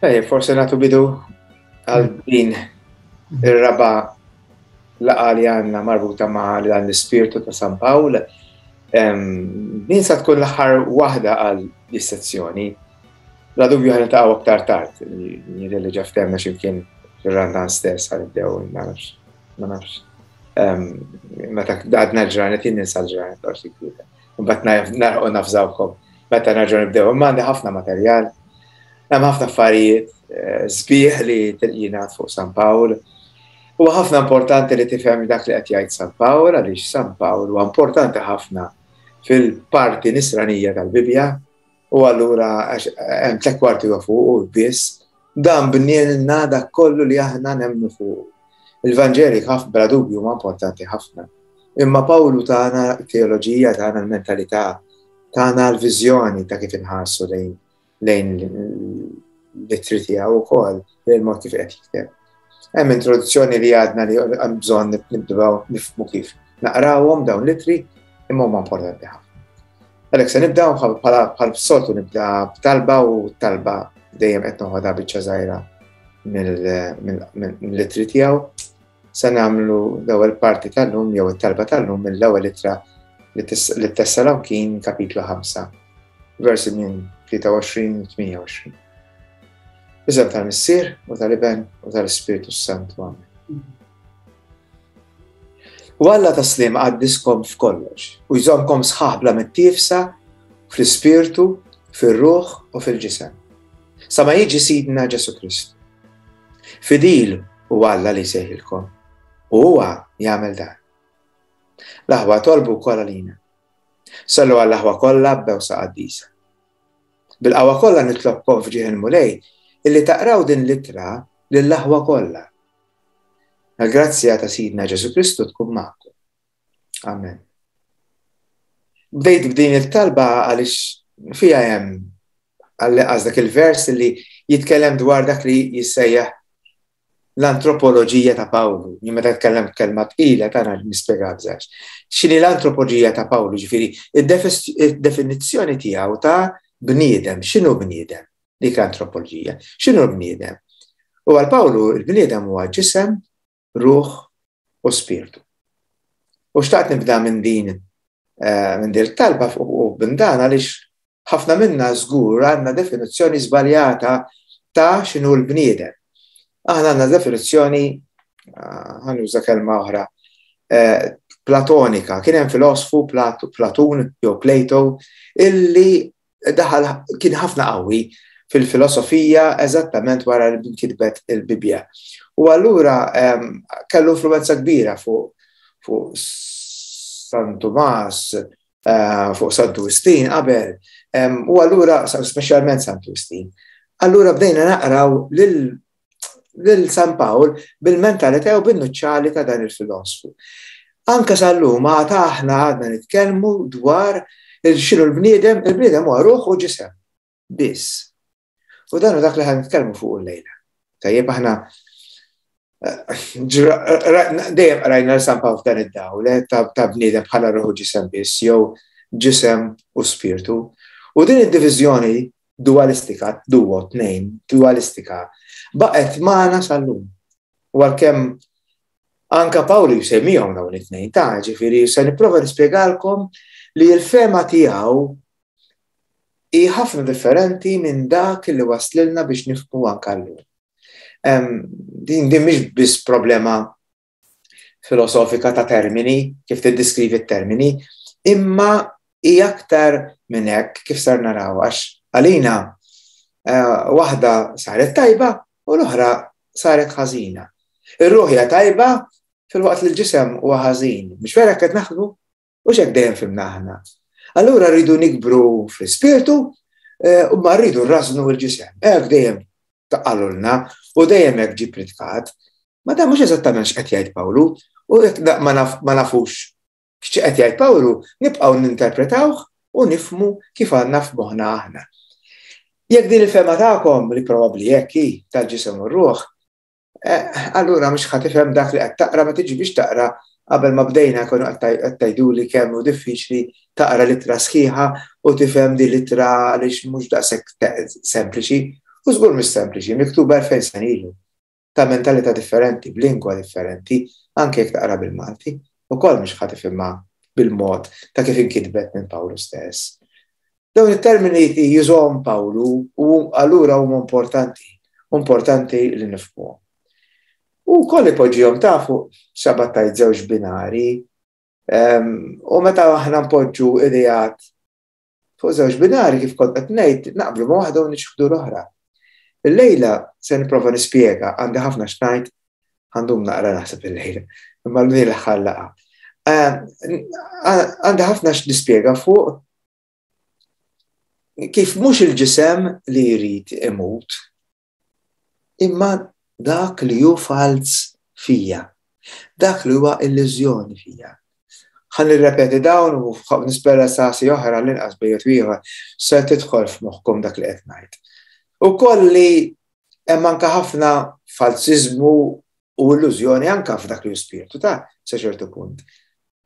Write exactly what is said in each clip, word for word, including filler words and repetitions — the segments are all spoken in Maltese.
Ej, forse nagħtu bidu għal din ir-raba' laqgħa li għandna marbuta ma' dan l-ispirtu ta' San Pawl. Din sa tkun l-aħħar waħda għal dis-sezzjoni. Bla dubju ħa niltaqgħu aktar tard, jidher li ġa ftehmna x'imkien fir-Randan stess ħa nibdew, ma nafx, ma nafx. Meta għadna l-ġranet, jien ninsa l-ġranet, forsi kwieta. Mbagħad narqu nafżawkom meta nerġgħu nibdew. Imma għandi ħafna materjal. Hemm ħafna affarijiet eh, sbieħ li jingħad fuq San Pawl. Huwa ħafna importanti li tifhem dak li qed jgħid San Pawl, għaliex San Pawl huwa importanti ħafna fil-parti nisranija tal-Bibbja, u allura hemm tliet kwarti huwa fuq u biss dan bnielna dak kollu li aħna nemmnu fuq. Il-Vanġeli ħafna bla dubju huma importanti ħafna. Imma Pawlu tana teoloġija, tana l-mentalità, tana l-viżjoni ta' kif inħarsu lejn lejn l-ittri tiegħu wkoll, lejn il-mod kif qed jikteb. Hemm introduzzjoni li għadna li hemm bżonn nibdew nifhmu kif naqrawhom dawn l-ittri, imma huma importanti ħafna. Għalhekk se nibda bħala bħal soltu nibda b'talba, u talba dejjem qed noħodha biċċa żgħira mill-ittri tiegħu. Se nagħmlu l-ewwel parti tal-lum jew it-talba tal-lum mill-ewwel ittra lit-Tessalonikin, kapitlu ħamsa, versi minn tlieta u għoxrin u tmienja u għoxrin. B'isem tal-Missier u tal-Iben u tal-Ispirtu Santu. Amen. U Alla tas-sliem qaddiskom f'kollox u jżommkom sħaħ bla mittiefsa fl-ispirtu, fir-ruħ u fil-ġisem, sa ma jiġi Sidna Ġesu Kristu. Fidil u Alla li jsejħilkom, u huwa jagħmel dan. L-aħwa tolbu wkoll għalina. Sallu għall-aħwa kollha b'bewsa qaddisa. Bil-qawwa kollha nitlobkom f'ġieħ il-Mulej illi taqraw din l-ittra lill-aħwa kollha. Il-grazzja ta' Sidna Ġesu Kristu tkun magħkom. Amen. Bdejt b'din il-talba għaliex fija hemm għall-inqas dak il-vers li jitkellem dwar dak li jissejjaħ l-antropoloġija ta' Pawlu. Jien meta tkellem kelma tqila tagħna nispjega bżax. X'inhi l-antropoloġija ta' Pawlu, ġifieri id-definizzjoni tiegħu ta' bniedem, x'inhu bniedem? Dik l-antropoloġija. X'inhu bniedem? U għal Pawlu il-bniedem huwa ġisem, ruħ u spirtu. U xtaqt nibda minn din, eh, minn din talba u minn dan għaliex ħafna minna żgur għandna definizzjoni żbaljata ta' x'inhu l-bniedem. Aħna għandna definizzjoni, eh, ħa nuża kelma oħra, eh, platonika. Kien hemm filosfu Platun jew Plato illi daħal kien ħafna qawwi fil-filosofija eżattament wara li nkitbet il-Bibbja. U allura, ehm, kellu influenza kbira fuq fu San Tumas, eh, fuq Santu Wistin qabel, ehm, u allura speċjalment Santu Wistin. Allura bdejna naqraw lil lil San Pawl bil-mentalità u bin-nuċċali ta' dan il-filosfu. Anka sal-lum għad aħna għadna nitkellmu dwar il-xinu l-bniedem, il-bniedem huwa ruħ u ġisem. Biss. U dan hu dak li ħan nitkellmu fuq il-lejla. Tajjeb aħna, eh, dejjem rajna San Pawl f'dan id-dawl, eh, ta', ta' bniedem bħala ruħ u ġisem biss, jew ġisem u spirtu. U din id-diviżjoni dualistika, duo, tnejn, dualistika, baqgħet magħna sal-lum. U għalkemm anka Pawlu jsemmihom dawn it-tnejn, ta' ġifieri se nipprova nispjegalkom li l-fema tiegħu hi ħafna differenti minn dak li waslilna biex nifhmu anka llum. Din din mhix biss problema filosofika ta' termini, kif tiddeskrivi t-termini, imma hi aktar minn hekk kif sar naraw, għax għalina, eh, waħda saret tajba u l-oħra saret ħażina. Ir-ruħ hija tajba filwaqt li l-ġisem huwa ħażin. Mhux vera qed naħdmu? U x'hekk dejjem fhimna aħna. Allura rridu nikbru fl-ispirtu, eh, u ma rridu rrażnu l-ġisem. Hekk dejjem taqalulna u dejjem hekk ġie pritkat. Ma dan mhux eżattament x'qed jgħid Pawlu, u jekk ma naf-, ma nafux x'qed jgħid Pawlu, nibqgħu ninterpretawh u nifhmu kif għandna f'moħħna aħna. Jekk din il-fema tagħkom, li probabbli hekk hi tal-ġisem u r-ruħ, eh, allura mhux ħa tifhem dak li qed taqra, ma tiġi biex taqra qabel ma bdejna konu qed tgħiduli kemm hu diffiċli taqra littra sħiħa u tifhem din littra għaliex mhux daqshekk sempliċi. U żgur mhix sempliċi, miktuba elfejn sena ilu, ta' mentalità differenti, b'lingwa differenti, anke jekk taqra bil-Malti, ukoll mhux ħa tifhimha bil-mod ta' kif inkitbet minn Pawlu stess. Dawn it-termini jużahom Pawlu u allura huma importanti, importanti li nifhmuhom. U koll ipoġġihom ta' fuq xabattajt żewġ binari, u meta aħna npoġġu ideat fuq żewġ binari kif kont qed ngħid, naqblu ma' waħda u niċħdu l-oħra. Illejla se nipprova nispjega, għandi ħafna x'ngħid, għandhom naqra naħseb illejla, imma l l-aħħar laqgħa. Għandi ħafna x'nispjega fuq kif mhux il-ġisem li jrid imut, imma dak li hu falz fija, dak li huwa illużjoni fija. Ħa nirrepeti dawn u nispera sasi oħra l-inqas bejjet ieħor se tidħol f'moħħkom dak li qed ngħid. U kolli hemm anke ħafna falsiżmu u illużjoni anke f'dak li hu spirtu ta' sa ċertu punt.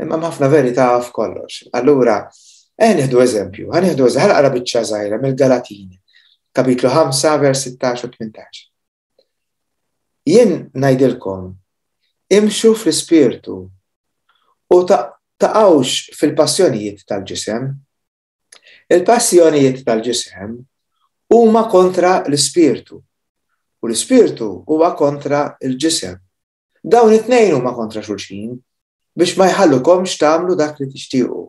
Imma hemm ħafna verità f'kollox. Allura, eh nieħdu eżempju, ħa nieħdu eżempju, ħa naqra biċċa żgħira mill-Galatin, kapitlu ħamsa, vers sittax u tmintax. Jien ngħidilkom, imxu fl-ispirtu u taqgħux fil-passjonijiet tal-ġisem. Il-passjonijiet tal-ġisem huma kontra l-ispirtu u l-ispirtu huwa kontra l-ġisem. Dawn it-tnejn huma kontra xulxin biex ma jħallukomx tagħmlu dak li tixtiequ.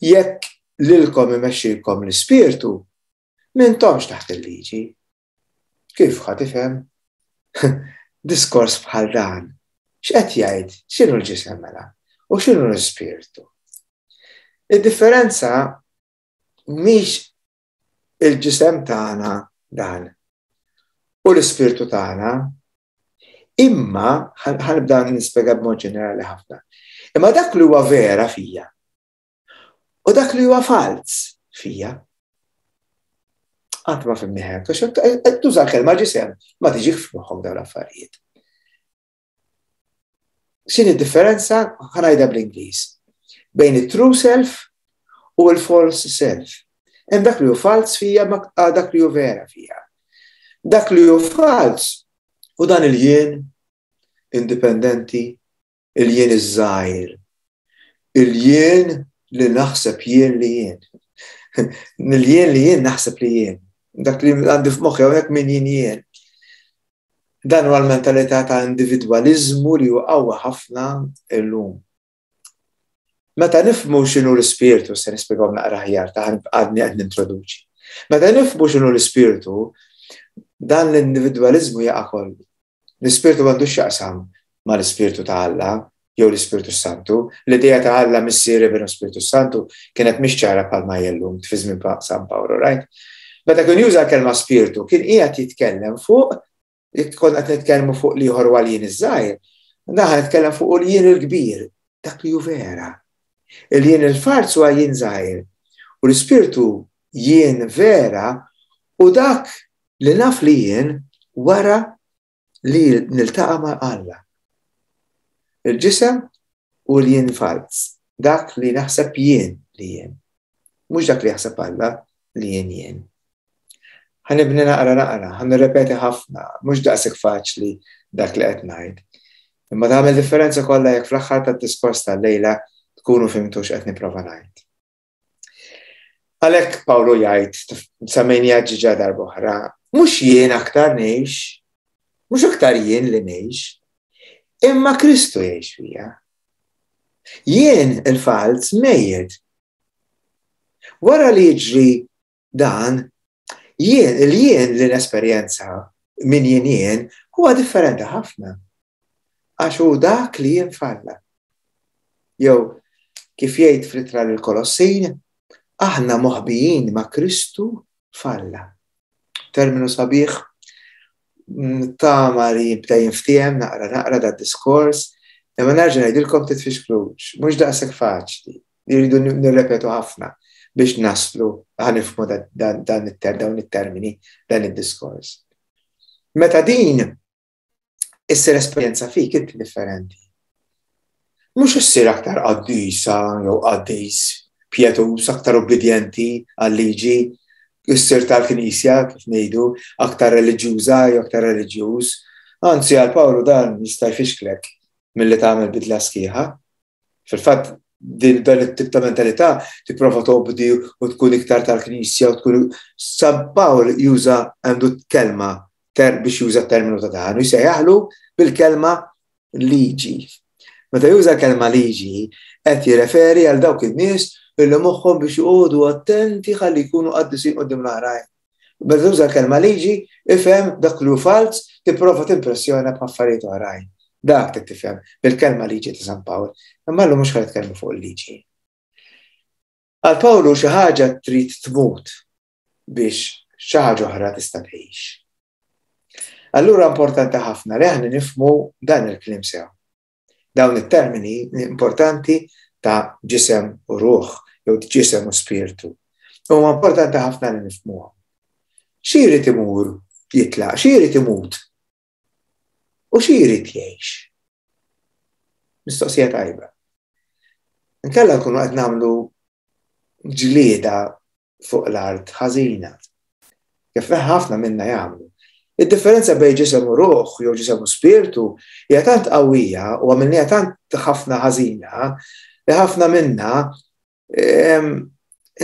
Jekk lilkom imexxilkom l-ispirtu, m'intomx taħt il-liġi. Kif ħa tifhem? Diskors bħal dan. X'qed jgħid? X'inhu l-ġisem mela? U x'inhu l-ispirtu? Id-differenza mhix il-ġisem tagħna dan u l-ispirtu tagħna, imma ħanibda nispjega b'mod ġenerali ħafna. Imma dak li huwa vera fija u dak li huwa falz fija. Qatt ma fimni hekk, għax tuża l-kelma ġisem, ma tiġik f'moħħok dawn l-affarijiet. X'inhi d-differenza? Ħa ngħidha bl-Ingliż. Bejn it-true self u l-false self. Hemm dak li hu falz fija ma dak li hu vera fija. Dak li hu falz u dan il-jien indipendenti, il-jien iż-żgħir, il-jien li naħseb jien li jien. Il-jien li jien naħseb li jien. Dak li għandi f'moħħi hawnhekk min jien jien. Dan huwa l-mentalità ta' individwaliżmu li hu qawwa ħafna illum. Meta nifhmu x'inhu l-ispirtu, se nispjegahom naqra aħjar ta' għadni qed nintroduċi. Meta nifhmu x'inhu l-ispirtu, dan l-individwaliżmu jaqa' kollu. L-ispirtu m'għandux x'jaqsam mal-ispirtu ta' Alla jew l-Ispirtu Santu. L-idea ta' Alla Missier Iben u Spirtu Santu kienet mhix ċara bħalma hija llum fi żmien San Pawlu, right? Meta kien juża l-kelma spirtu, kien qiegħed jitkellem fuq, jekk konna qed nitkellmu fuq l-ieħor huwa l-jien iż-żgħir, naħa nitkellem fuq l-jien il-kbir, dak li hu vera. Il-jien il-farz huwa jien żgħir u l-ispirtu jien vera u dak li naf li jien wara li niltaqa' ma' Alla. Il-ġisem u l-jien falz, dak li naħseb jien li jien, mhux dak li jaħseb Alla li jien jien. Ħanibni naqra naqra, ħa nirrepeti ħafna, mhux daqshekk faċli dak li qed ngħid. Imma tagħmel differenza kollha jekk fl-aħħar tad-diskors tal-lejla tkunu fimtu x'qed nipprova ngħid. Għalhekk Pawlu jgħid, semmejniha ġiġa darb'oħra, mhux jien aktar ngħix, mhux aktar jien li ngħix, imma Kristu jgħix fija. Jien il-falz mejjed. Wara li jiġri dan, jien, il-jien li l-esperjenza minn jien jien huwa differenti ħafna. Għax hu dak li jien falla. Jew kif jgħid fl-ittra lill-Kolossin, aħna moħbijin ma' Kristu falla. Terminu sabiħ, tama li jibda jinftiehem naqra naqra da diskors, imma nerġa' ngħidilkom titfixklux, mhux daqshekk faċli, jridu nirrepetu ħafna biex naslu ħanifhmu dan dawn it-termini, dan id-diskors. Meta din issir esperjenza fik inti differenti. Mhux issir aktar qaddisa jew qaddis pjetus, aktar obbedjenti għal-liġi, issir tal-Knisja, kif ngħidu, aktar reliġjuża jew aktar reliġjuż. Anzi, għal Pawlu dan jista' jfixklek milli tagħmel bidla sħiħa. Fil-fatt, dan it-tip ta' mentalità tipprova tobdi u tkun iktar tal-Knisja u tkun. San Pawl juża, għandu kelma ter biex juża terminu ta' dan, u jsejjaħlu bil-kelma liġi. Meta juża kelma liġi, qed jirreferi għal dawk in-nies illi moħħhom biex joqogħdu attenti ħalli jkunu qaddisin quddiem l-oħrajn. Meta tuża kelma liġi, ifhem dak li hu falz, tipprova timpressjona b'affarijiet oħrajn. Dak trid tifhem bil-kelma liġi ta' San Pawl. Imma llum mhux ħa nitkellmu fuq il-liġi. Għal Pawlu xi ħaġa trid tmut biex xi ħaġa oħra tista' tgħix. Allura importanti ħafna li aħna nifhmu dan il-kliem sew. Dawn it-termini importanti ta' ġisem u ruħ, jew ġisem u spirtu. Huma importanti ħafna li nifhmuhom. Xi jrid imur jitlaq, xi jrid imut u xi jrid jgħix? Mistoqsija tajba. Inkella nkunu qed nagħmlu ġlieda fuq l-art ħażina. Kif ħafna minna jagħmlu. Id-differenza bejn ġisem u ruħ jew ġisem u spirtu hija tant qawwija u għamilniha tant ħafna ħażina li ħafna minna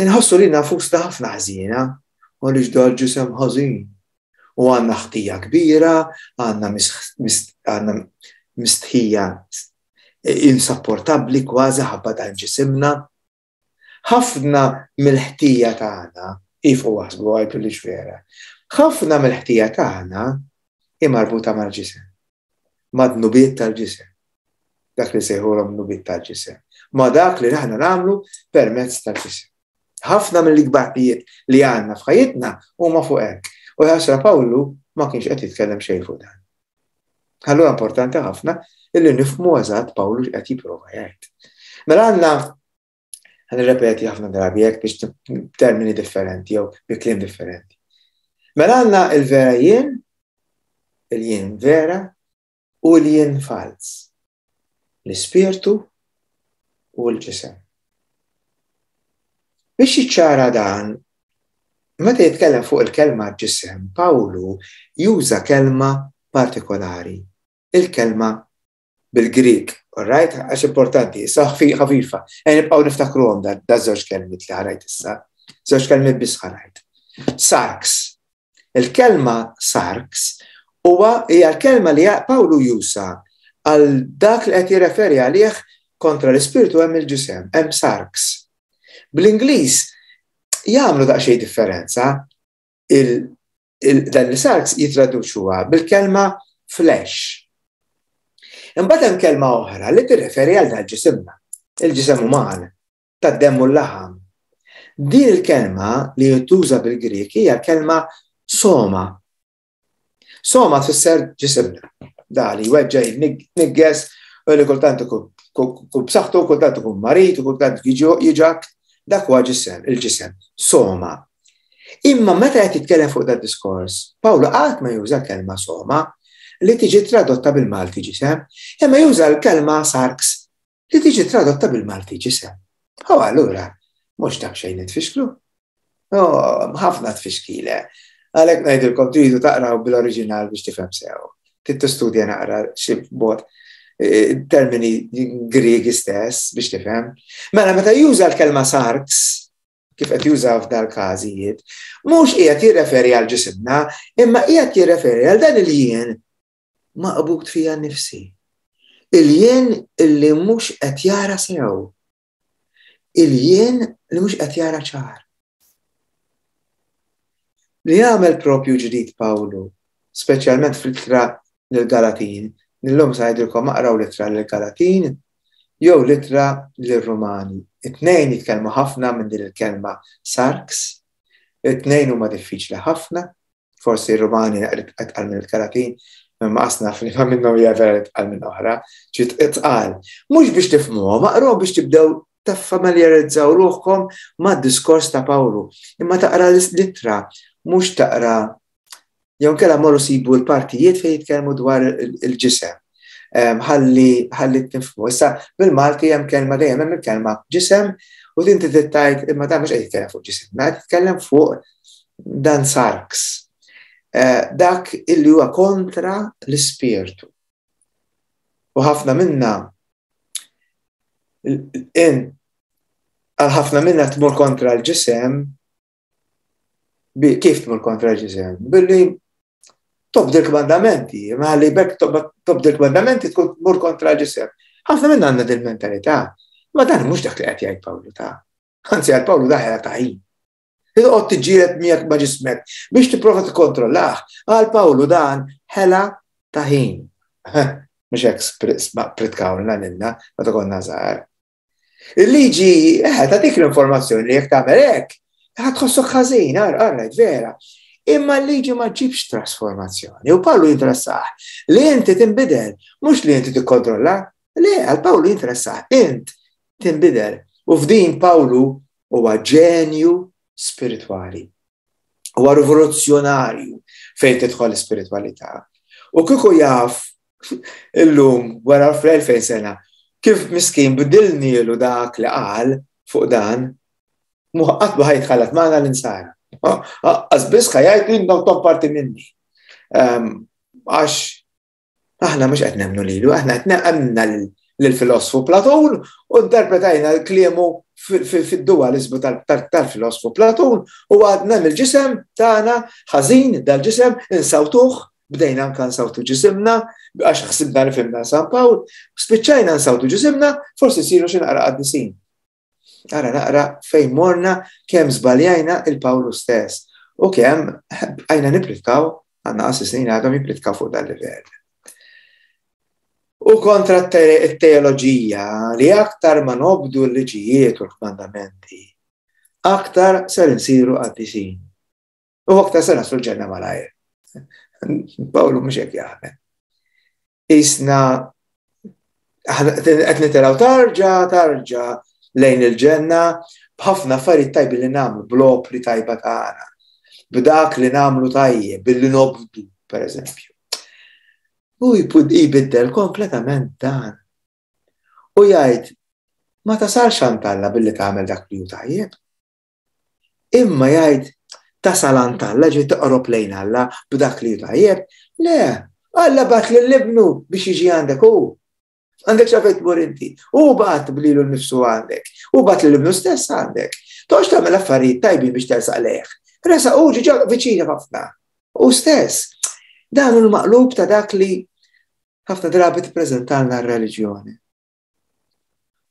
nħossu li nfusna ħafna ħażina u għaliex dal ġisem ħażin. U għandna ħtija kbira, għandna għandna mistħija insapportabbli kważi ħabba dan ġisimna. Ħafna mill-ħtija tagħna, ifu waħsbu għajdu li vera, ħafna mill-ħtija tagħna hi marbuta mal-ġisem, mad-dnubiet tal-ġisem. Dak li sejħulhom dnubiet tal-ġisem. Ma dak li aħna nagħmlu permezz tal-ġisem. Ħafna mill-ikbar li għandna f'ħajjitna huma fuq hekk. U ħasra Pawlu ma kienx qed jitkellem xejn fuq dan. Allura importanti ħafna illi nifhmu eżatt Pawlu x'qed jipprova jgħid. Mela għandna, ħa nirrepeti ħafna drabi hekk biex termini differenti jew bi kliem differenti. Mela għandna il-vera jien, il-jien vera u l-jien falz. L-ispirtu u l-ġisem. Biex jiċċara dan, meta jitkellem fuq il-kelma ġisem, Pawlu juża kelma partikolari, il-kelma bil-Grik, all right? Għax importanti, issa ħafifa. E nibqgħu niftakruhom da, da żewġ kelmiet li ħa ngħid issa. Żewġ kelmiet biss ħa ngħid. Sarx. Il-kelma sarx huwa hija l-kelma li Pawlu juża għal dak li qed jirreferi għalih kontra l-ispirtu hemm il-ġisem, hemm sarx. Bl-Ingliż jagħmlu daqsxejn differenza, dan il-sarx jitraduċuha bil-kelma flesh. Imbagħad hemm kelma oħra li tirreferi għal dan ġisimna, il-ġisem uman, tad-demm u l-laħam. Din il-kelma li tuża bil-Grek hija kelma soma. Soma tfisser ġisimna. Da li weġġa jnigges, u li kultant ikun b'saħħtu, kultant ikun marid, u kultant jiġak, dak huwa ġisem, il-ġisem, soma. Imma meta qed jitkellem fuq dan diskors, Pawlu qatt ma juża kelma soma li tiġi tradotta bil-Malti ġisem, imma juża l-kelma sarx li tiġi tradotta bil-Malti ġisem. U allura, mhux dak xejn nitfixklu. Ħafna tfixkile. Għalhekk ngħidilkom tridu taqraw bil-oriġinal biex tifhem sew. Trid tistudja naqra xi bot termini Griegi stess biex tifhem. Mela meta juża l-kelma sarx, kif qed juża f'dal każijiet, mhux qiegħed jirreferi għal ġisimna, imma qiegħed jirreferi għal dan il-jien maqbud fija nnifsi. Il-jien illi mhux qed jara sew. Il-jien li mhux qed jara ċar. Li jagħmel propju ġdid Pawlu, speċjalment fl-ittra lill-Galatin, illum sa ngħidilkom aqraw l-ittra lill-Galatin jew l-ittra lir-Rumani. It-tnejn jitkellmu ħafna minn din il-kelma sarx, it-tnejn huma diffiċli ħafna, forsi r-Rumani itqal minn il-Galatin, imma qasna fli ma minnhom hija vera itqal minn oħra, ġiet itqal. Mhux biex tifhmuhom, aqrawhom biex tibdew taffamiljarizzaw ruħkom mad-diskors ta' Pawlu. Imma taqra l-ittra, mhux taqra jew inkella morru sibu l-partijiet fejn jitkellmu dwar il-ġisem. Ħalli ħalli tifhmu. Issa bil-Malti hemm kelma dejjem hemm il-kelma ġisem u din trid tgħid imma dan mhux qed jitkellem fuq ġisem, qed jitkellem fuq Dan sarx. Eh, dak illi huwa kontra l-ispirtu. U ħafna minna in għal ħafna minna tmur kontra l-ġisem, kif tmur kontra l-ġisem? Billi tobdi l-kmandamenti, ma li bekk tobdi l-kmandamenti tkun tmur kontra l-ġisem. Ħafna minna għandna dil-mentalità, ma dan mhux dak li qed jgħid Pawlu ta'. Anzi għal Pawlu daħela ta' ħin. Toqgħod tiġġieled miegħek ma' ġismek biex tipprova tikkontrollah. Għal Pawlu dan ħela ta' ħin. Mhux hekk pritkawlna lilna meta konna żgħar. Il-liġi, eh, tagħtik l-informazzjoni li jekk tagħmel hekk, ħa tħossok ħażin, għarrajt, vera. Imma l-liġi ma ġibx trasformazzjoni. U Pawlu jinteressah li inti tinbidel, mhux li inti tikkontrolla. Le, għal Pawlu jinteressah int tinbidel. U f'din Pawlu huwa ġenju spiritwali. Huwa rivoluzzjonarju fejn tidħol l-ispiritwalità. U kieku jaf illum wara fl-elfejn sena kif miskin bidilnielu dak li qal fuq dan, qatt ma ħajtħallat magħna l-insara. Għax biss ħa jgħid li intom parti minni. Għax aħna mhux qed nemmnu lilu, aħna qed nemmna lill-filosfu Platun u interpretajna kliemu fid-dualizmu tal-filosfu Platun u għadna mill-ġisem tagħna ħażin dal-ġisem insawtuh, bdejna anka nsawtu ġisimna, għax ħsibna li fhimna San Pawl, spiċċajna nsawtu ġisimna, forsi siru xi naqra qaddisin. Ara naqra fejn morna kemm żbaljajna il-Pawlu stess u kemm għajna nipritkaw, għandna qassisin għadhom jipritkaw fuq dal-livell. U kontra t-teoloġija li aktar ma nobdu l-liġijiet u l-kmandamenti, aktar ser insiru qaddisin. U aktar ser naslu l-ġenna malajr. Pawlu mhux hekk jaħdem. Isna qed nitilgħu tarġa, tarġa lejn il-ġenna b'ħafna affarijiet tajbi li nagħmlu, bl-opri tajba tagħna, b'dak li nagħmlu tajjeb, billi nobdu, per eżempju. U jbiddel kompletament dan. U jgħid, ma tasalx għand Alla billi tagħmel dak li hu tajjeb. Imma jgħid, tasal għand Alla, ġej toqrob lejn Alla b'dak li hu tajjeb. Le, Alla bagħat lil ibnu biex jiġi għandek hu. Għandek x'għalfejn tmur inti. U bagħat lilu nnifsu għandek. U bagħat lil ibnu stess għandek. Toqgħodx tagħmel affarijiet tajbin biex tersaq lejh. Resaq hu ġiġa viċina ħafna. U stess. Dan hu l-maqlub ta' dak li ħafna drabi tippreżentalna r-reliġjoni.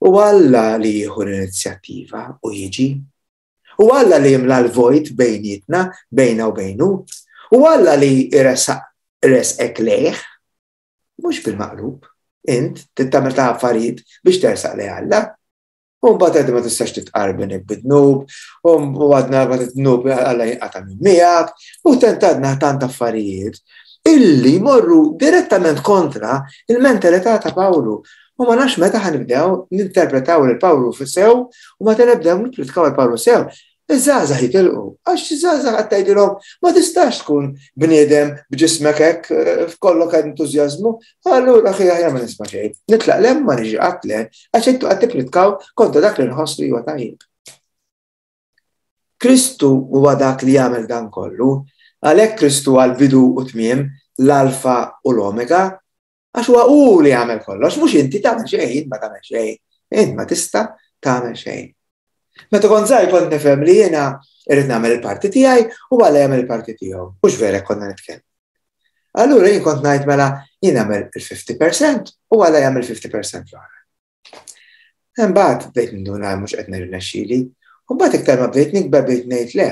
U Alla li jieħu l-inizjattiva u jiġi. U Alla li jimla l-vojt bejnietna, bejna u bejnu. U Alla li jressaq resqek lejh, mhux bil-maqlub. Int tittamel ta' affarijiet biex tersaq lejn Alla. U mbagħad għadha ma tistax titqarben bid-dnub, u għadna ma titnub Alla jinqata' minn miegħek, u tentadna tant affarijiet illi jmorru direttament kontra il-mentalità ta' Pawlu. U ma nafx meta ħanibdew ninterpretaw lil Pawlu sew u meta nibdew nippritkaw lil Pawlu sew. Iż-żgħażagħ jitilqu, għax iż-żgħażagħ qed tgħidilhom ma tistax tkun bniedem b'ġismek hekk f'kollok entużjażmu, allura ħi aħjar ma nisma' xejn. Nitlaq lem ma niġi qatt le, għax intu qed tippritkaw kontra dak li nħoss li huwa tajjeb. Kristu huwa dak li jagħmel dan kollu, għalhekk Kristu għal bidu u tmiem, l-alfa u l-omega, għax huwa hu li jagħmel kollox, mhux inti tagħmel xejn, int ma tagħmel xejn, int ma tista' tagħmel xejn. Meta kont żgħir kont nifhem li jiena irrid nagħmel il-parti tiegħi u Alla jagħmel il-parti tiegħu. Mhux vera konna nitkellmu. Allura jien kont ngħid mela jien nagħmel il-fifty percent u Alla jagħmel fifty percent l-oħra. Imbagħad bdejt ninduna mhux qed nirnexxieli, u mbagħad iktar ma bdejt nikber bdejt ngħid le.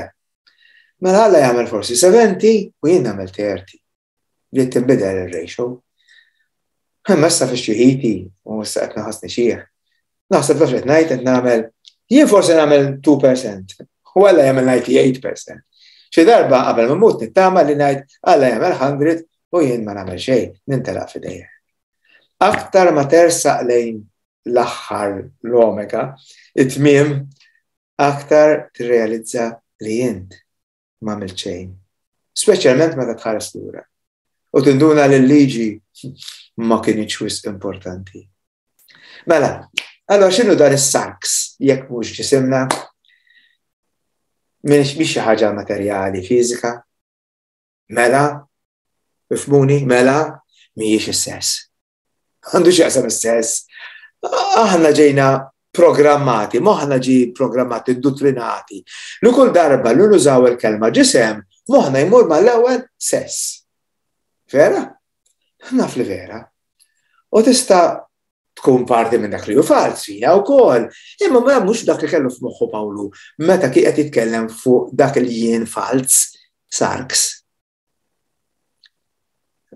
Mela Alla jagħmel forsi seventy u jien nagħmel thirty. Bdiet tinbidel ir-ratio. Imma issa fix-xieħiti u issa qed naħasni xieħ. Naħseb taf qed ngħid qed nagħmel jien forsi nagħmel two percent u Alla jagħmel ninety-eight percent. Xi darba qabel ma mmut nittama li ngħid Alla jagħmel hundred u jien ma nagħmel xejn, nintelaq f'idejja. Aktar ma tersaq lejn l-aħħar l-omega, it-tmiem, aktar tirrealizza li int ma għamilt xejn. Speċjalment meta tħares lura. U tinduna li l-liġi ma kienx wisq importanti. Mela, allora x'inhu dan is-sarx jekk mhux ġisimna? Mhix xi ħaġa materjali, fiżika. Mela, ifhmuni, mela, mhijiex is-sess. Għandu x'jaqsam is-sess. Aħna ġejna programmati, moħħna ġi programmati, dottrinati. Li kull darba li nużaw il-kelma ġisem, moħħna jmur mal-ewwel sess. Vera? Naf li vera. U tista' tkun parti minn dak li hu falz fina wkoll. Imma ma mhux dak li kellu f'moħħu Pawlu meta kien qed jitkellem fuq dak li jien falz sarks.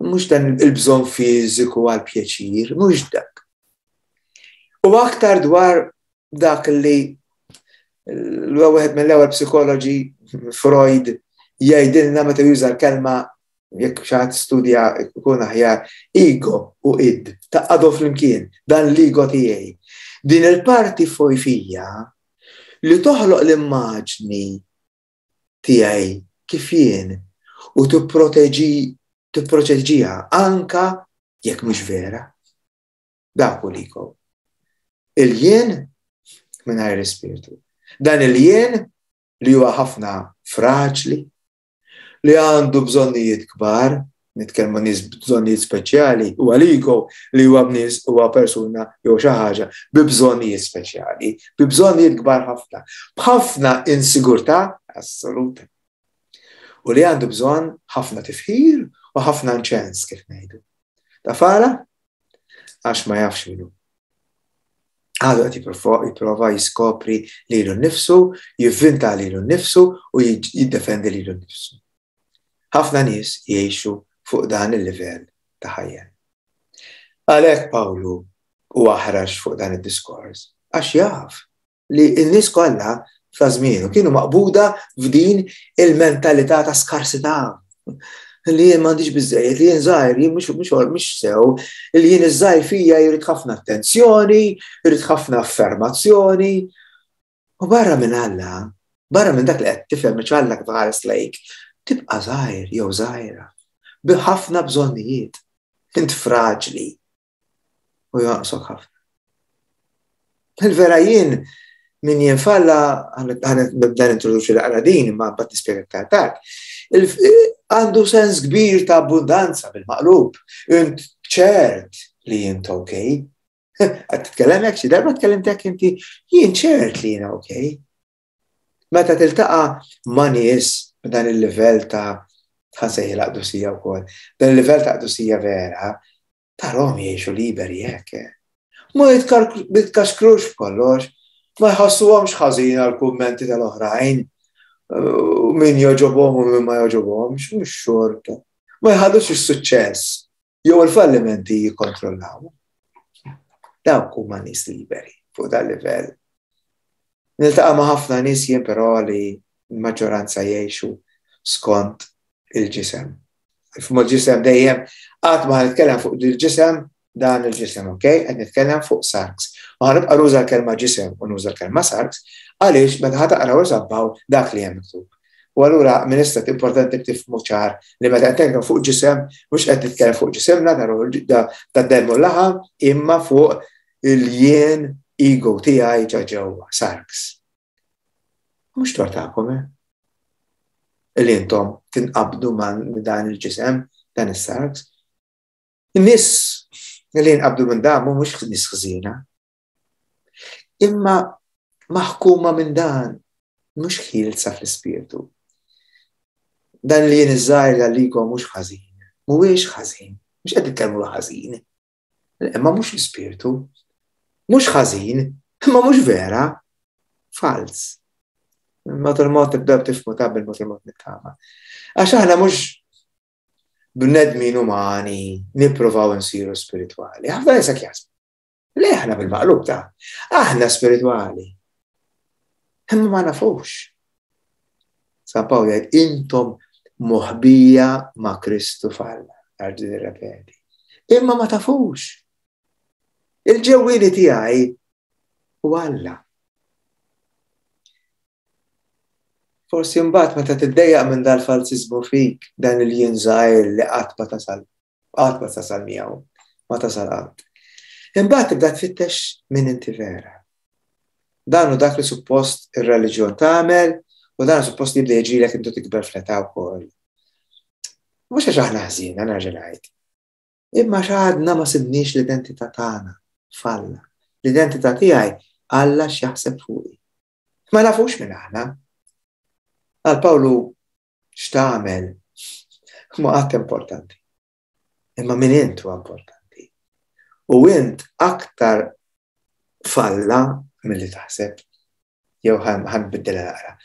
Mhux dan il-bżonn fiżiku għal pjaċir, mhux dak. U aktar dwar dak li l-wieħed mill-ewwel psikoloġi Freud jgħidilna meta juża l-kelma jekk xi ħadd studja jkun aħjar ego u id taqgħdu flimkien dan l-ego tiegħi. Din il-parti fija li toħloq l-immaġni tiegħi kif jien u tipproteġi tipproteġiha anka jekk mhux vera. Dak hu l-ego. Il-jien mingħajr ispirtu. Dan il-jien li huwa ħafna fraġli, li għandu bżonnijiet kbar, nitkellmu nies bżonnijiet speċjali, huwa l-ego li huwa bnies huwa persuna jew xi ħaġa bi bżonnijiet speċjali, bi bżonnijiet kbar ħafna, b'ħafna insigurtà assoluta. U li għandu bżonn ħafna tifħir u ħafna nċens kif ngħidu. Tafala? Għax ma jafx minnu. Għadu qed jipprova jiskopri lilu nnifsu, jivvinta lilu nnifsu u jiddefendi lilu nnifsu. Ħafna nies jgħixu fuq dan il-livell ta' ħajja. Għalhekk Pawlu u aħrax fuq dan id-diskors, għax jaf li n-nies kollha ta' żmienu kienu maqbuda f'din il-mentalità ta' skarsità. Li jien m'għandix biżejjed, li jien żgħir, jien mhux mhux mhux sew, li jien iż-żgħir fija jrid ħafna attenzjoni, jrid ħafna affermazzjoni. U barra minn Alla, barra minn dak li qed tifhem Alla kif ħares lejk, tibqa' żgħir jew żgħira, bi ħafna bżonnijiet, int fraġli u jonqsok ħafna. Il-vera jien min jien falla, ħa nibda nintroduċi l din, ma mbagħad nispjega aktar tard. Għandu sens kbir ta' abbundanza bil-maqlub. Int ċert li jint okej. Qed titkellem hekk xi darba tkellimt hekk inti, jien ċert li jiena okej. Meta tiltaqa' ma' nies b'dan il-livell ta' ħa nsejħilha qdusija wkoll, dan il-livell ta' qdusija vera, tarahom jgħixu liberi hekk. Ma jitkaxkrux f'kollox, ma jħassuhomx ħażin għal kummenti tal-oħrajn, min joġobhom u min ma joġobhomx, mhux xorta. Ma jħallux is-suċċess jew il-fallimenti jikkontrollaw. Dawk huma nies liberi fuq dan livell. Niltaqa' ma' ħafna nies jien però li l-maġġoranza jgħixu skont il-ġisem. F'mod ġisem dejjem qatt ma nitkellem fuq il-ġisem dan il-ġisem, ok? Qed nitkellem fuq sarks. U ħa nibqa' nuża l-kelma ġisem u nuża l-kelma sarks għaliex meta ħa taqraw iżabbaw dak li hemm miktub. U allura minn issa importanti tifhmu ċar li meta qed nitkellem fuq ġisem mhux qed nitkellem fuq ġisimna ta' demm u laħam imma fuq il-jien ego tiegħi ġa ġewwa sarks. Mhux tort tagħkom, eh? Li intom tinqabdu ma' dan il-ġisem, dan is-sarks. In-nies li jinqabdu minn dan mhux nies ħżiena. Imma maħkuma minn dan mhux ħielsa fl-ispirtu. Dan li jien iż-żgħir għalikom mhux ħażin. Mhuwiex ħażin, mhux qed nitkellmu ħażin. Imma mhux l-ispirtu. Mhux ħażin, imma mhux vera. Falz. Mod il-mod tibdew tifhmu ta' bil-mod il-mod nittama. Għax aħna mhux bnedmin umani nippruvaw nsiru spiritwali. Ħafna nies hekk jaħsbu. Le aħna bil-maqlub ta' aħna spiritwali. Imma ma nafux. San Pawl jgħid intom moħbija ma' Kristu f'Alla. Nerġa' nirrepeti. Imma ma tafux. Il-ġewwieni tiegħi u Alla. Forsi mbagħad meta tiddejjaq minn dal-falsiżmu fik, dan il-jien żgħir li qatt ma tasal, qatt ma tasal miegħu, ma tasal qatt. Imbagħad tibda tfittex min inti vera. Dan hu dak li suppost ir-reliġjon tagħmel U dan suppost jibda jiġrilek intu tikber fl-età wkoll. Mhux għax aħna ħżiena nerġa' ngħid. Imma x'għadna ma sibniex l-identità tagħna f'Alla. L-identità tiegħi Alla x'jaħseb fuqi. Ma nafux minn aħna. Għal Pawlu x'tagħmel ma qatt importanti. Imma min int huwa importanti. U int aktar f'Alla milli taħseb. Jew ħa nbiddilha naqra.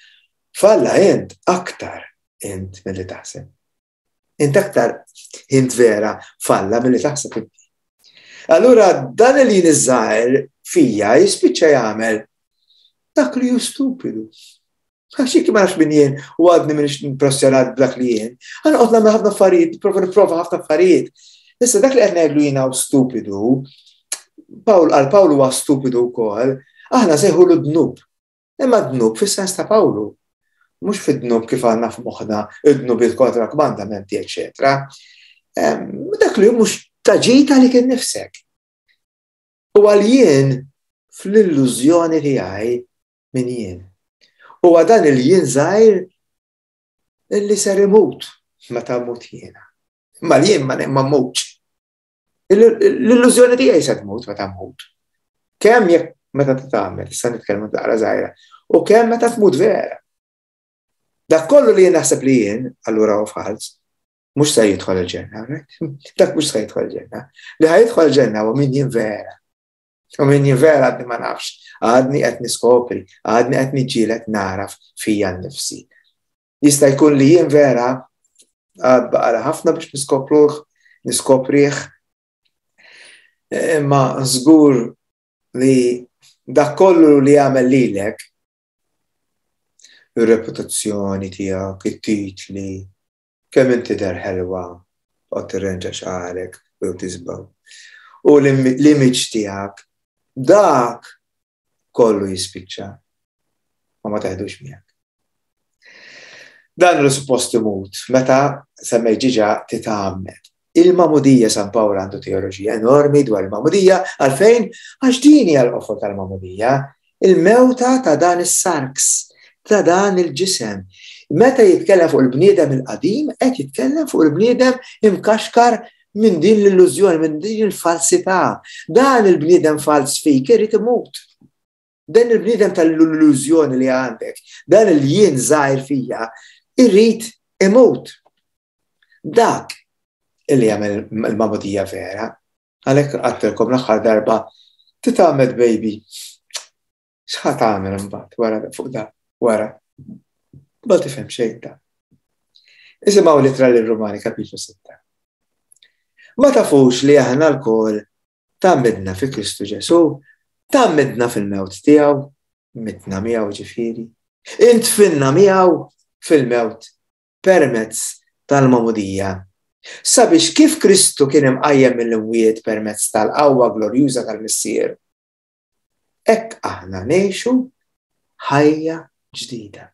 F'Alla int aktar int milli taħseb. Int aktar int vera f'Alla milli taħseb inti. Allura dan li niżżajr fija jispiċċa jagħmel dak li hu stupidu. Għax jekk ma nafx min jien u għadni m'iniex impressjonat b'dak li jien, għana qod nagħmel ħafna affarijiet, nipprova nipprova ħafna affarijiet. Issa dak li qed ngħidlu jiena hu stupidu, Pawl għal Pawlu huwa stupidu wkoll, aħna sejħulu dnub. Imma dnub fis-sens ta' Pawlu. Mhux fid-dnub kif għandna f'moħħna id-dnubiet kontra kmandamenti, eċetera. Dak li mhux taġita li kien nifsek. U għal jien fl-illużjoni tiegħi min jien. U dan il-jien żgħir illi ser imut meta mmut jiena. Ma l-jien ma ma mmutx. L-illużjoni tiegħi se tmut meta mmut. Kemm jekk meta titgħamel, issa nitkellmu daqra żgħira, u kemm meta tmut vera. Dak kollu li jien naħseb li jien, allura hu fals, mhux se jidħol il-ġenna, right? Dak mhux se jidħol il-ġenna. Li ħa jidħol il-ġenna huwa min jien vera. U min jien vera għadni ma nafx, għadni qed niskopri, għadni qed niġġieled naraf fija nnifsi. Jista' jkun li jien vera għad baqala ħafna biex niskopruh, niskoprih, imma żgur li dak kollu li jagħmel lilek, ir-reputazzjoni tiegħek, it-titli, kemm inti der ħelwa, toqgħod tirrenġa xagħrek u jew tisbaw. U l-image tiegħek, dak kollu jispiċċa. Ma ma teħdux miegħek. Dan li suppost imut meta semmej ġiġa titgħammed. Il-Magħmudija San Pawl għandu teoloġija enormi dwar il-Magħmudija, għalfejn għax din hija l-qofol tal-Magħmudija, il-mewta ta' dan is-sarks, ta' dan il-ġisem. Meta jitkellem fuq il-bniedem il-qadim, qed jitkellem fuq il-bniedem imkaxkar minn din l-illużjoni, minn din il-falsità. Dan il-bniedem fals fik irid imut. Dan il-bniedem tal-illużjoni li għandek, dan il-jien żgħir fija, irrid imut. Dak illi jagħmel il-magħmudija vera. Għalhekk għadtilkom l-aħħar darba titgħammed baby. X'ħa tagħmel imbagħad wara fuq da, wara. Ma tifhem xejn ta. Isimgħu l-ittra lir-Rumani kapitlu sitta. Ma tafux li aħna lkoll tgħammidna fi Kristu Ġesù, tgħammidna fil-mewt tiegħu, mitna miegħu ġifieri, intfinna miegħu fil-mewt permezz tal-magħmudija. Sabiex kif Kristu kien imqajjem mill-imwiet permezz tal-qawwa glorjuża tal-Missier, hekk aħna ngħixu ħajja ġdida.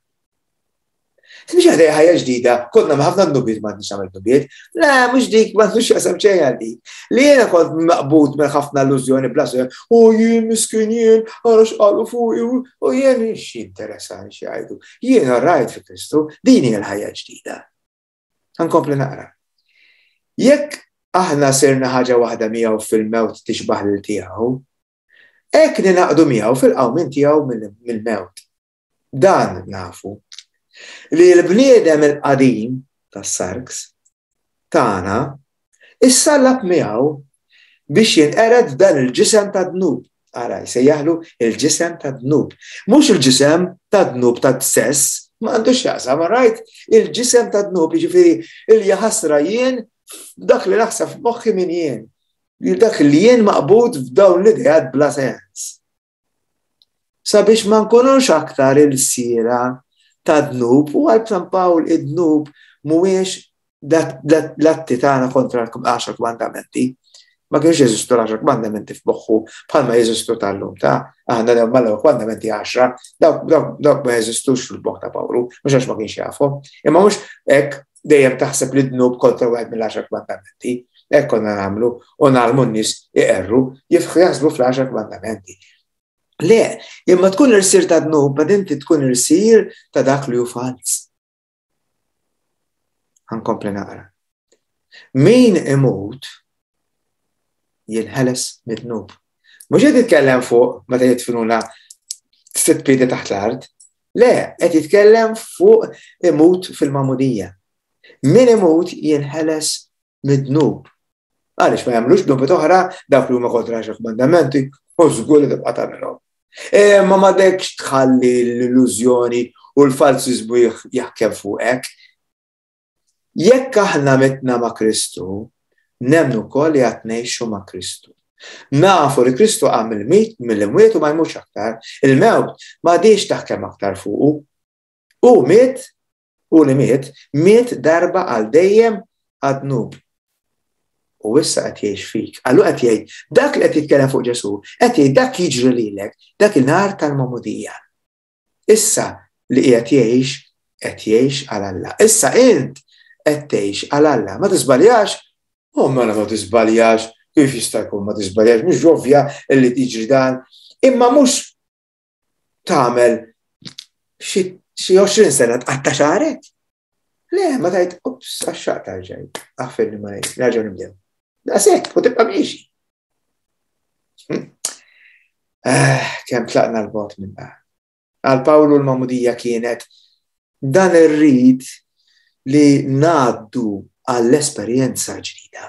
Mhux ħajja ħajja ġdida, konna ma ħafna dnubiet ma għandix nagħmel dnubiet. Le, mhux dik, ma għandux jaqsam xejn għal dik. Li jiena kont maqbud minn ħafna illużjoni bla sew, u jien miskin jien, ara x'qalu fuqi, u jien x'interessani x'jgħidu. Jiena rajt fi Kristu, din hija l-ħajja ġdida. Nkompli naqra. Jekk aħna sirna ħaġa waħda miegħu fil-mewt tixbaħ lil tiegħu, hekk ninaqdu miegħu fil-qawmien tiegħu mill-mewt. Dan nafu li l-bniedem il-qadim tas-sarks tagħna issallab miegħu biex jinqered dan il-ġisem ta' dnub. Ara, jsejjaħlu il-ġisem ta' dnub. Mhux il-ġisem ta' dnub ta' sess, ma għandux x'jaqsam, rajt? Il-ġisem ta' dnub, jiġifieri il-jaħasra jien dak li naħseb f'moħħi min jien. Dak li jien maqbud f'dawn l-ideat bla sens. Sabiex ma nkunux aktar il-sira ta' dnub, u għal San Pawl id-dnub mhuwiex l-atti tagħna kontra l-għaxar kmandamenti. Ma kienx jeżistu l-għaxar kmandamenti f'moħħu bħalma jeżistu tal-lum ta' aħna l mal kmandamenti għaxra, dawk ma jeżistux fil-moħħ ta' Pawlu, mhux għax ma kienx jafhom, imma mhux hekk dejjem taħseb li dnub kontra wieħed mill-għaxar kmandamenti. Hekk konna nagħmlu u nagħmlu n-nies iqerru, jaħsbu fl-għaxar kmandamenti. Le, imma tkun irsir ta' dnub, ma inti tkun irsir ta' dak li hu falz. Ħa nkompli naqra. Min imut jinħeles mid-dnub. Mhux qed jitkellem fuq meta jidfinuna sitt piedi taħt l-art, le, qed jitkellem fuq imut fil-magħmudija. Min imut jinħeles mid-dnub. Għaliex ma jagħmlux dnubiet oħra dawk li huma kontra għaxar kmandamenti, u żgur li tibqa' tagħmilhom. Imma m'għadekx tħalli l-illużjoni u l-falsiżmu jaħkem fuqek. Jekk aħna mitna ma' Kristu, nemmnu wkoll li għad ngħixu ma' Kristu. Nafu li Kristu qam mill-mit mill-imwiet u ma jmutx aktar, il-mewt m'għadhiex taħkem aktar fuqu. U miet, u li miet, miet darba għal dejjem għad-dnub. U issa qed jgħix fik. Allura qed jgħid dak li qed jitkellem fuq Ġesù, qed jgħid dak jiġri lilek, dak il-nhar tal-magħmudija. Issa li qiegħed jgħix, qed jgħix għal Alla. Issa int qed tgħix għal Alla. Ma tiżbaljax? U mela ma tiżbaljax, kif jista' jkun ma tiżbaljax, mhux ovvja li tiġri dan, imma mhux tagħmel xi għoxrin sena tqatta' xagħrek. Le, ma tgħid, ups, għax-xaqq tarġaj, aħfirli ma ngħid, nerġgħu nibdew. Daqshekk, u tibqa' miexi. Eh, kemm tlaqna l-bogħod minn dan. Għal Pawlu l-magħmudija kienet dan ir-rit li ngħaddu għall-esperjenza ġdida.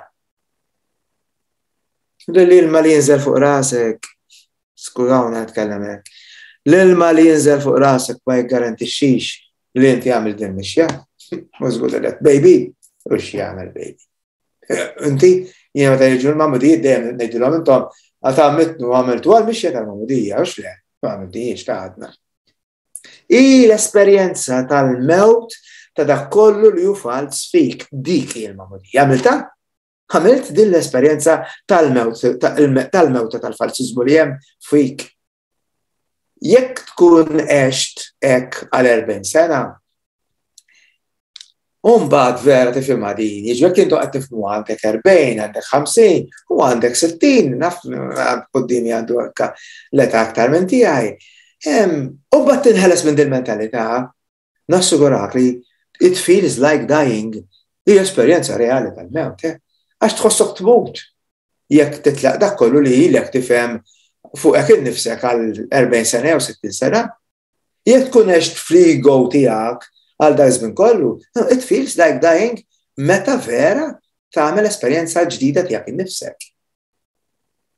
L-ilma li jinżel fuq rasek, skużawna nitkellem hekk, l-ilma li jinżel fuq rasek ma jiggarantixxix li inti għamil din mixja. Mhux żgur li baby, u x'jagħmel baby. Inti, jiena meta jiġu l-magħmudijiet dejjem ngħidilhom intom għad għamiltu għamiltu għal mixja tal-magħmudija, hux le, ma għamiltihiex ta' għadna. I l-esperjenza tal-mewt ta' dak kollu li hu falz fik, dik hi l-magħmudija. Għamilta? Għamilt din l-esperjenza tal-mewt tal-mewta tal-falsiżmu li hemm fik. Jekk tkun għext hekk għal erbgħin sena, Umbagħad vera tifhimha din, jiġri jekk intu qed tifhmu għandek erbgħin, għandek ħamsin, u għandek sittin, naf quddiemi għandu anke l-età aktar minn tiegħi. U mbagħad tinħeles minn din mentalità, nassigurak li it feels like dying, hija esperjenza reali tal-mewt, eh? Għax tħossok tmut jekk titlaq dak kollu li ilek tifhem fuqek innifsek għal erbgħin sena jew sittin sena. Jekk tkun għext fl-ego tiegħek għal dak żmien kollu, it feels like dying meta vera tagħmel esperjenza ġdida tiegħek innifsek.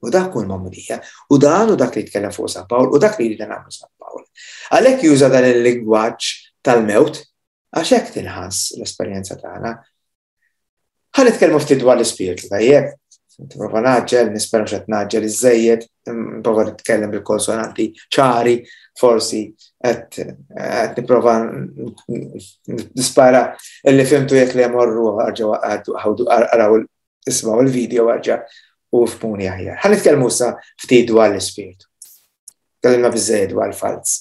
U dak hu l-magħmudija. U dan u dak li jitkellem fuq San Pawl, u dak li jrid nagħmlu San Pawl. Għalhekk juża dan il-lingwaġġ tal-mewt, għax hekk tinħass l-esperjenza tagħna. Ħa nitkellmu ftit dwar l-ispirtu, tajjeb? Nipprova naġġel, nispera mhux qed naġġel iżejjed, nipprova nitkellem bil-konsonanti ċari, forsi qed nipprova nispara illi fimtu jekk li jmorru ħawdu araw ismgħu il-video arġa' u fhmuni aħjar. Ħa nitkellmu issa ftit dwar l-ispirtu. Tkellimna biżejjed dwar il-falz.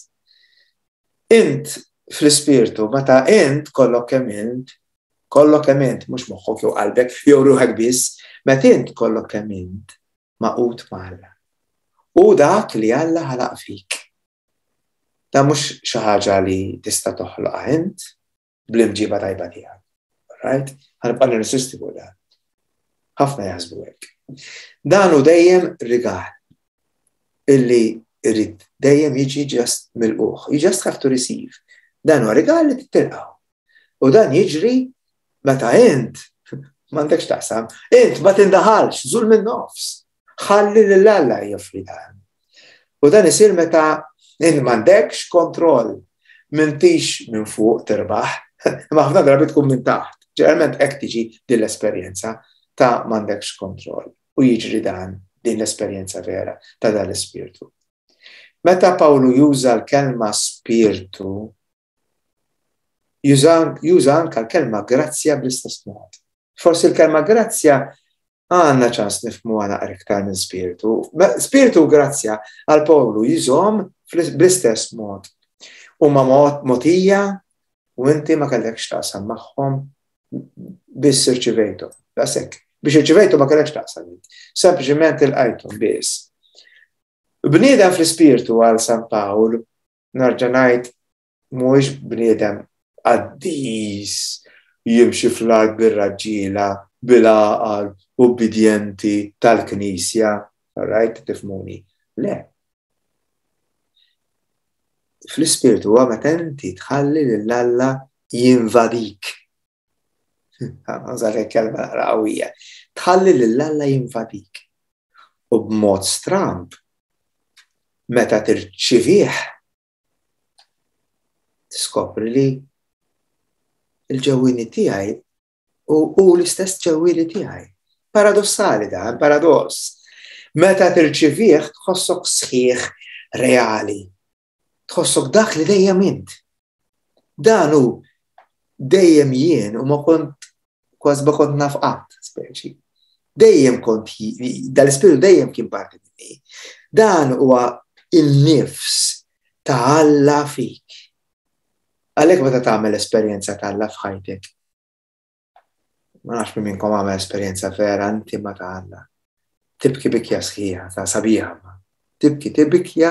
Int fl-ispirtu, meta int kollok kemm int, kollok kemm int, mhux moħħok jew qalbek jew ruħek biss, meta int kollok kemm int magħqud ma' Alla. U dak li Alla ħalaq fik. Da mhux xi ħaġa li tista' toħloqha int bl-imġiba tajba tiegħek. Right? Ħa nibqa' nirsisti fuq dan. Ħafna jaħsbu hekk. Dan hu dejjem rigal illi irrid dejjem jiġi just milquh. You just have to receive. Dan huwa rigal li titilqgħu. U dan jiġri meta int m'għandekx taqsam, int ma tindaħalx, żul minn nofs. Ħalli lil Alla joffri dan. U dan isir meta int m'għandekx kontroll, m'intix minn fuq tirbaħ, imma ħafna drabi tkun minn taħt. Ġeneralment hekk tiġi din l-esperjenza ta' m'għandekx kontroll. U jiġri dan din l-esperjenza vera ta' dan l-ispirtu. Meta Pawlu juża l-kelma spirtu, juża anka l-kelma grazzja bl-istess mod. Forsi l-kelma grazzja għandna ċans nifhmuha naqra iktar minn spirtu. Spirtu u grazzja għal Pawlu jużhom bl-istess mod. Huma mogħtija u inti ma kellekx taqsam magħhom biss irċivejthom. Daqshekk. Biex irċivejthom ma kellekx taqsam. Sempliċement ilqajthom biss. Bniedem fl-ispirtu għal San Pawl, narġa' ngħid, mhuwiex bniedem qaddis jimxi fl-art bir-raġġiela, bil-għaqal, ubbidjenti tal-Knisja, right, tifhmuni. Le. Fl-ispirtu huwa meta inti tħalli lil Alla jinvadik. Għażal kelma naqra qawwija. Tħalli lil Alla jinvadik. U b'mod stramb, meta tirċivih, tiskopri li il-ġewwieni tiegħi u, u l-istess ġewwieni tiegħi. Paradossali dan, paradoss. Meta tirċivih tħossok sħiħ reali. Tħossok dak li dejjem int. Dan hu dejjem jien u ma kont kważi ma kont naf qatt, speċi. Dejjem kont, dal-ispirtu dejjem kien parti minni. Dan huwa il-nifs ta' Alla fik. Għalhekk meta tagħmel esperjenza ta' Alla f'ħajtek, ma nafx min minnkom għamel esperjenza vera intima ta' Alla. Tibki bikja sħiħa, ta' sabiħa. Tibki tibkija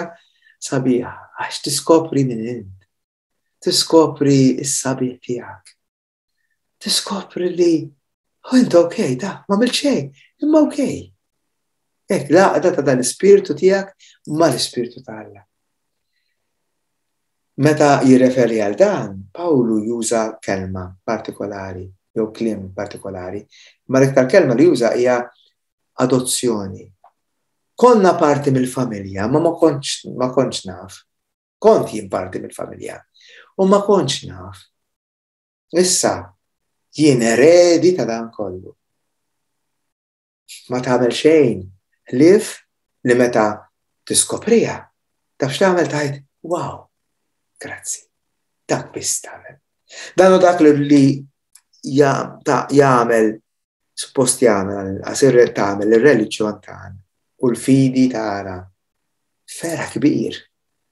sabiħa, għax tiskopri min int. Tiskopri s-sabiħ tiegħek. Tiskopri li oh, int okej, da, ma għamilt xejn, imma okej. Hekk, l-għaqda ta' dan l-ispirtu tiegħek ma l-ispirtu ta' Alla. Meta jirreferi għal dan, Pawlu juża kelma partikolari, jew kliem partikolari, ma l-iktar kelma li juża hija adozzjoni. Konna parti mill-familja, ma ma kontx, ma kontx naf. Kont jien parti mill-familja, u ma kontx naf. Issa, jien eredi ta' dan kollu. Ma tagħmel xejn, ħlief li meta tiskoprija, taf x'tagħmel tgħid, wow, grazzi. Dak biss tagħmel. Dan hu dak li jagħmel, suppost jagħmel, għasir tagħmel ir-reliġjon tagħna u l-fidi tagħna. Ferħ kbir.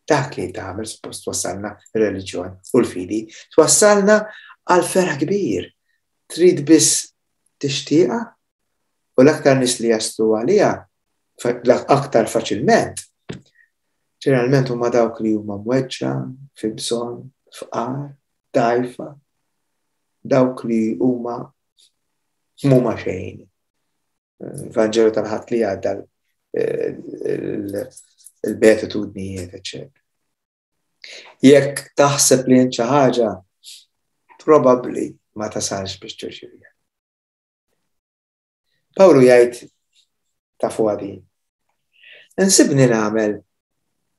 Dak li tagħmel suppost twassalna ir-reliġjon u l-fidi, twassalna għal ferħ kbir. Trid biss tixtieqha u l-aktar nies li jaslu għaliha aktar faċilment. Ġeneralment huma dawk li huma mweġġa, fi bżonn, fqar, dgħajfa, dawk li huma m'huma xejn. Vanġelu tal-Ħadd li għadda il-beatitudnijiet, eċċetera. Jekk taħseb li int xi ħaġa, probabbli ma tasalx biex tirċiviha. Pawlu jgħid tafu għadin. Insibni nagħmel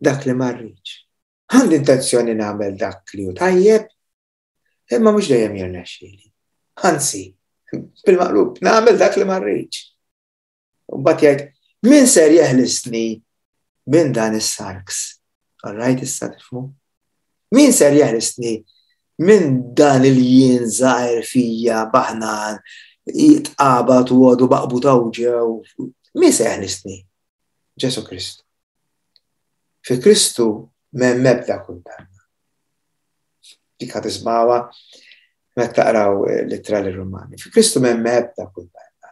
dak li ma rridx. Għandi intenzjoni nagħmel dak li hu tajjeb, imma mhux dejjem jirnexxieli. Anzi, bil-maqlub, nagħmel dak li ma rridx. U mbagħad jgħid, min ser jeħlisni minn dan is-sarks? All right, issa tifhmu? Min ser jeħlisni minn dan il-jien żgħir fija baħnan jitqabad u għodu baqbu tawġew? Min se jeħlisni? Ġesu Kristu. Fi Kristu m'hemm ebda kundanna. Dik ħa tismawha meta taqraw l-ittra lir-Rumani. Fi Kristu m'hemm ebda kundanna.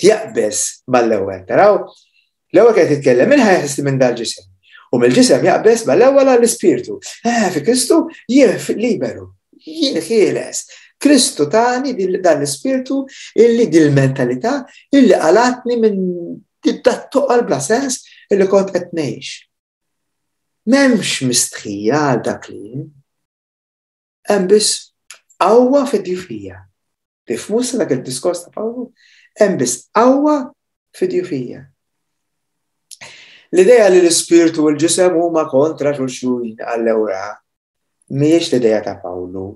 Jaqbeż mal-ewwel, taraw? L-ewwel qed jitkellem min ħa jeħlisni minn dal-ġisem. U mill-ġisem jaqbeż mal-ewwel għall-ispirtu. Eh, fi Kristu jien liberu, jien ħieles. Kristu tani dan l-ispirtu illi dil-mentalità illi qalatni minn dat-toqol bla sens illi kont qed ngħix. M'hemmx mistħija għal dak li jien. Hemm biss qawwa fid-djufija. Tifhmu sa dak il-diskors ta' Pawlu? Hemm biss qawwa fid-djufija. L-idea li l-ispirtu u l-ġisem huma kontra xulxin għall-ewra mhijiex l-idea ta' Pawlu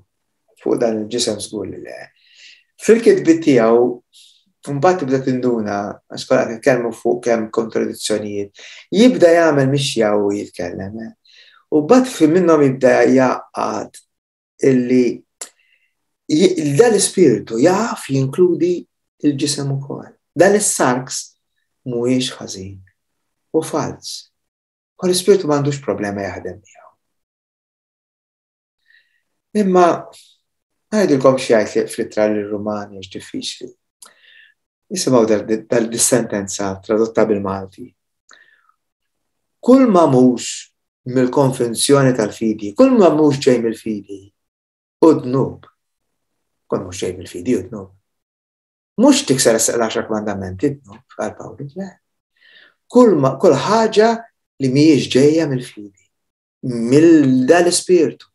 fuq dan il-ġisem żgur li le. Fil-kitbiet tiegħu mbagħad tibda tinduna, għax kollha qed nitkellmu fuq kemm kontradizzjonijiet, jibda jagħmel mixja u jitkellem. U mbagħad fi minnhom jibda jgħaqqad illi dan l-ispirtu jaf jinkludi il-ġisem ukoll. Dan is-sarks mhuwiex ħażin u falz. U l-ispirtu m'għandux problema jaħdem miegħu. Imma ngħidilkom xi jgħid fl-ittra lir-Rumani għax diffiċli. Nisimgħu dal-sentenza tradotta bil-Malti. Kull ma mhux mill-konvenzjoni tal-fidi, kull ma mhux ġej mill-fidi, u dnub. Kull mhux ġej mill-fidi u dnub. Mhux tikser l-għaxar kmandamenti dnub għal Pawlu, le. Kull kull ħaġa li mhijiex ġejja mill-fidi, mill dal-ispirtu,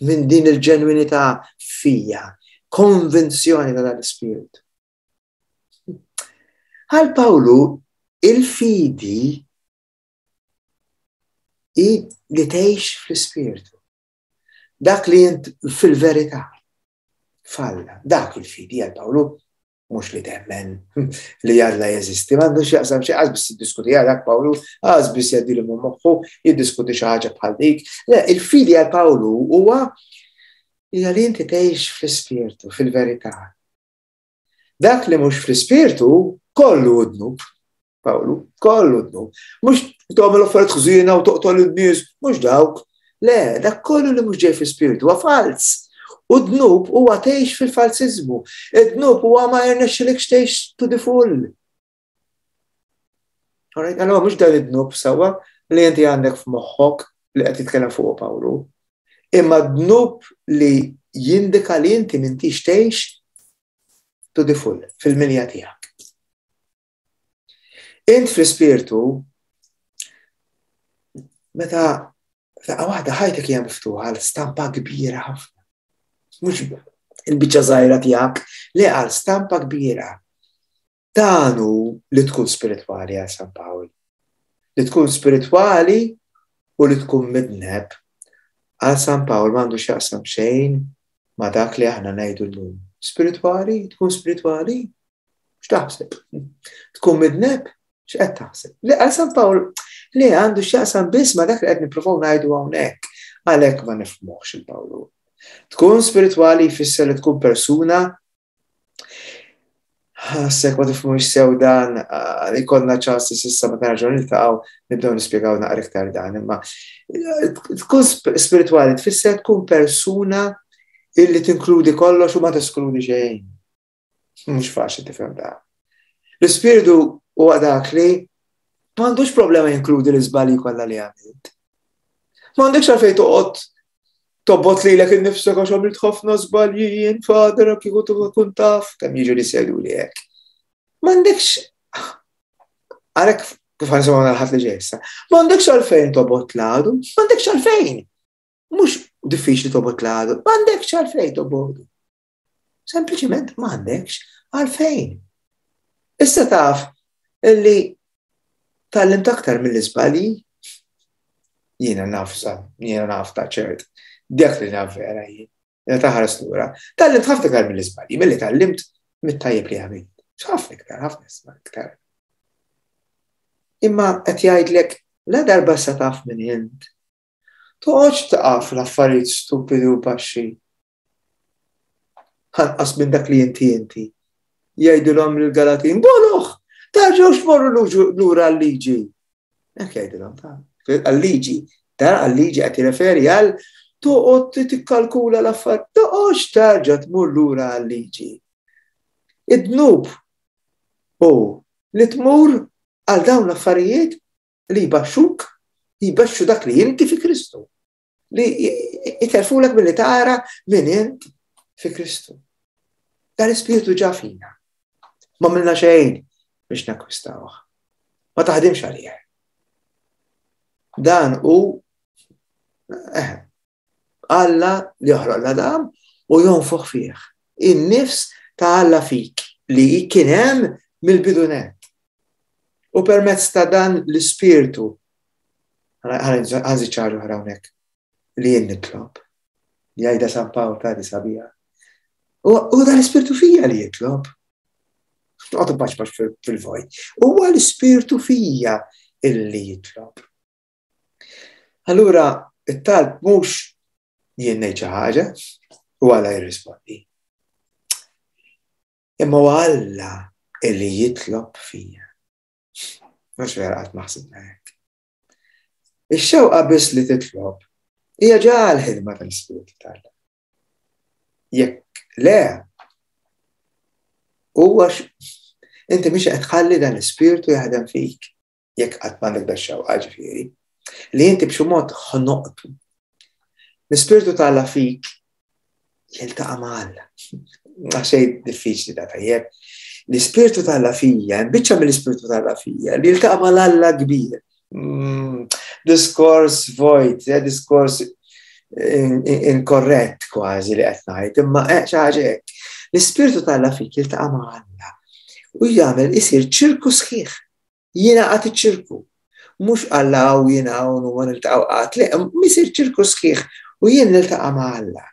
minn din il-ġenwinità fija, konvinzjoni ta' dal-ispirtu. Għal Pawlu, il-fidi hi li tgħix fl-ispirtu. Dak li jint fil-verità. Falla, dak il-fidi għal Pawlu, mhux li temmen li Alla jeżisti, m'għandux jaqsam xi qas biss jiddiskuti dak Pawlu, qas biss jgħaddilu minn moħħu, jiddiskuti xi ħaġa bħal dik. Le, il-fidi għal Pawlu huwa hija li inti tgħix fl-ispirtu, fil-verità. Dak li mhux fl-ispirtu kollu dnub. Pawlu, kollu dnub. Mhux tagħmel affarijiet ħżiena u toqtol in-nies, mhux dawk. Le, dak kollu li mhux ġej fl-ispirtu huwa fals. U dnub huwa tgħix fil-falsiżmu. Id-dnub huwa ma jirnexxilekx tgħix to the full. Alright, allora mhux dan id-dnub sewwa li inti għandek f'moħħok li qed jitkellem fuq Pawlu. Imma dnub li jindika li inti m'intix tgħix to the full, fil-milja tiegħek. Int fl-ispirtu, meta daqqa waħda ħajtek hija miftuħa għal stampa kbira ħafna. Mhux il-biċċa żgħira tiegħek, le għal stampa kbira. Dan hu li tkun spiritwali għal San Pawl. Li tkun spiritwali u li tkun midneb għal San Pawl m'għandu x'jaqsam xejn ma' dak li aħna ngħidu llum. Spiritwali, tkun spiritwali, x'taħseb? Tkun midneb, x'qed taħseb? Le għal San Pawl li għandu x'jaqsam biss ma' dak li qed nippruvaw ngħidu hawnhekk, għalhekk ma nifhmuhx il-Pawlu. Tkun spiritwali jfisser li tkun persuna ħassek ma tifhmux sew dan, li konna ċans s'issa meta nerġgħu niltaqgħu nibdew nispjegaw naqra iktar dan, imma tkun spiritwali tfisser tkun persuna illi tinkludi kollox u ma teskludi xejn. Mhux faċli tifhem dan. L-ispirtu huwa dak li m'għandux problema jinkludi l-iżbalji kollha li għamilt. M'għandekx għalfejn toqgħod tobot lilek innifsek għax għamilt ħafna żbalji jien fader kieku tkun taf kemm jiġu li jgħidu li hekk. M'għandekx għalhekk kif ħa nisimgħu l-Ħadd li ġej issa. M'għandekx għalfejn tobgħod l-għadu, m'għandekx għalfejn. Mhux diffiċli tobgħod l-għadu, m'għandekx għalfejn tobgħodu. Sempliċiment m'għandekx għalfejn. Issa taf illi tgħallimt aktar mill-iżbalji, jiena naf jiena naf ta' ċert, dak li naf vera jien, jiena taħares lura. Tgħallimt ħafna iktar mill-iżbalji, milli tgħallimt mit-tajjeb li għamilt. Ħafna iktar, ħafna iktar. Imma qed jgħidlek la darba sa taf minn int. Toqgħodx taqaf l-affarijiet stupidi u baxxi. Ħanqas minn dak li inti inti. Jgħidulhom lill-Galatin, boloh, terġgħux morru lura għal-liġi. Hekk jgħidulhom ta' għal-liġi. Ta' għal-liġi qed jirreferi għal toqgħod tikkalkula l-affarijiet, toqgħodx terġa' tmur lura għal-liġi. Id-dnub hu li tmur għal dawn l-affarijiet li jbaxxuk, jbaxxu dak li inti fi Kristu. Li jiterfulek milli tara min int fi Kristu. Dan l-ispirtu ġa fina. Ma għamilna xejn biex nakkwistawh. Ma taħdimx għalih. Dan hu eh, Alla li joħloq l-Adam u jonfoħ fih. In-nifs ta' Alla fik li kien hemm mill-bidu nett. U permezz ta' dan l-ispirtu, ħa nżid ċaru hawnhekk li jien nitlob. Jgħidha San Pawl ta' di sabiħa. U dan l-ispirtu fija li jitlob. Noqgħod paċ fil-vojt. Huwa l-ispirtu fija illi jitlob. Allura, it-talb mhux jien ngħid xi ħaġa u Alla jirrispondi. Imma huwa Alla illi jitlob fija. Mhux vera qatt ma ħsibna hekk. Ix-xewqa biss li titlob hija ġa l-ħidma tal-Ispirtu t'Alla. Jekk le, huwa inti mhix qed tħalli dan l-Ispirtu jaħdem fik. Jekk qatt m'għandek da xewqa ġifieri, li inti b'xi mod ħnoqtu. L-Ispirtu ta' Alla fik jiltaqa' ma' Alla. Xejn diffiċli da tajjeb. L-Ispirtu ta' Alla fija, biċċa mill-Ispirtu ta' Alla fija, li jiltaqa' ma' Alla kbir. Mm, diskors vojt, eh, diskors inkorrett kważi li qed ngħid, imma eh, xi ħaġa hekk. L-Ispirtu ta' Alla fik jiltaqa' ma' Alla u jagħmel isir ċirku sħiħ. Jingħaqad iċ-ċirku. Mhux Alla hawn jien hawn u ma niltaqgħu qatt, le, isir ċirku sħiħ u jien niltaqa' ma' Alla.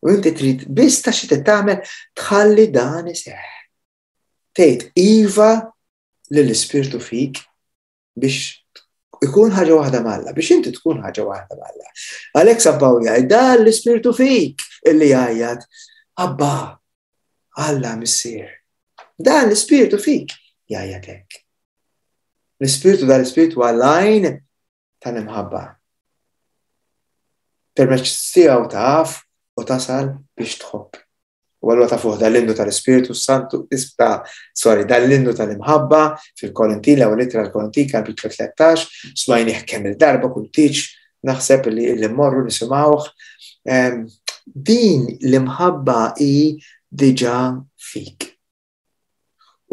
U inti trid biss ta' xi tagħmel tħalli dan iseħħ. Tgħid iva lill-Ispirtu fik biex ikun ħaġa waħda ma' Alla, biex inti tkun ħaġa waħda ma' Alla. Għalhekk San Pawl jgħid dan l-Ispirtu fik illi jgħajjat Abba, Alla Missier. Dan l-Ispirtu fik jgħajjat hekk. L-Ispirtu dan l-Ispirtu għall-għajn tal-imħabba. Permezz tiegħu taf u tasal biex tħobb. U għallu ta' fuq dal-innu tal-Ispirtu Santu, isba, sorry, dal-innu tal-imħabba fil-Korintin, l-ewwel ittra l-Korintin, kapitlu tlettax, smajnih kemm il-darba kull tiġ, naħseb li li mmorru nisimgħuh. Din l-imħabba hi diġà fik.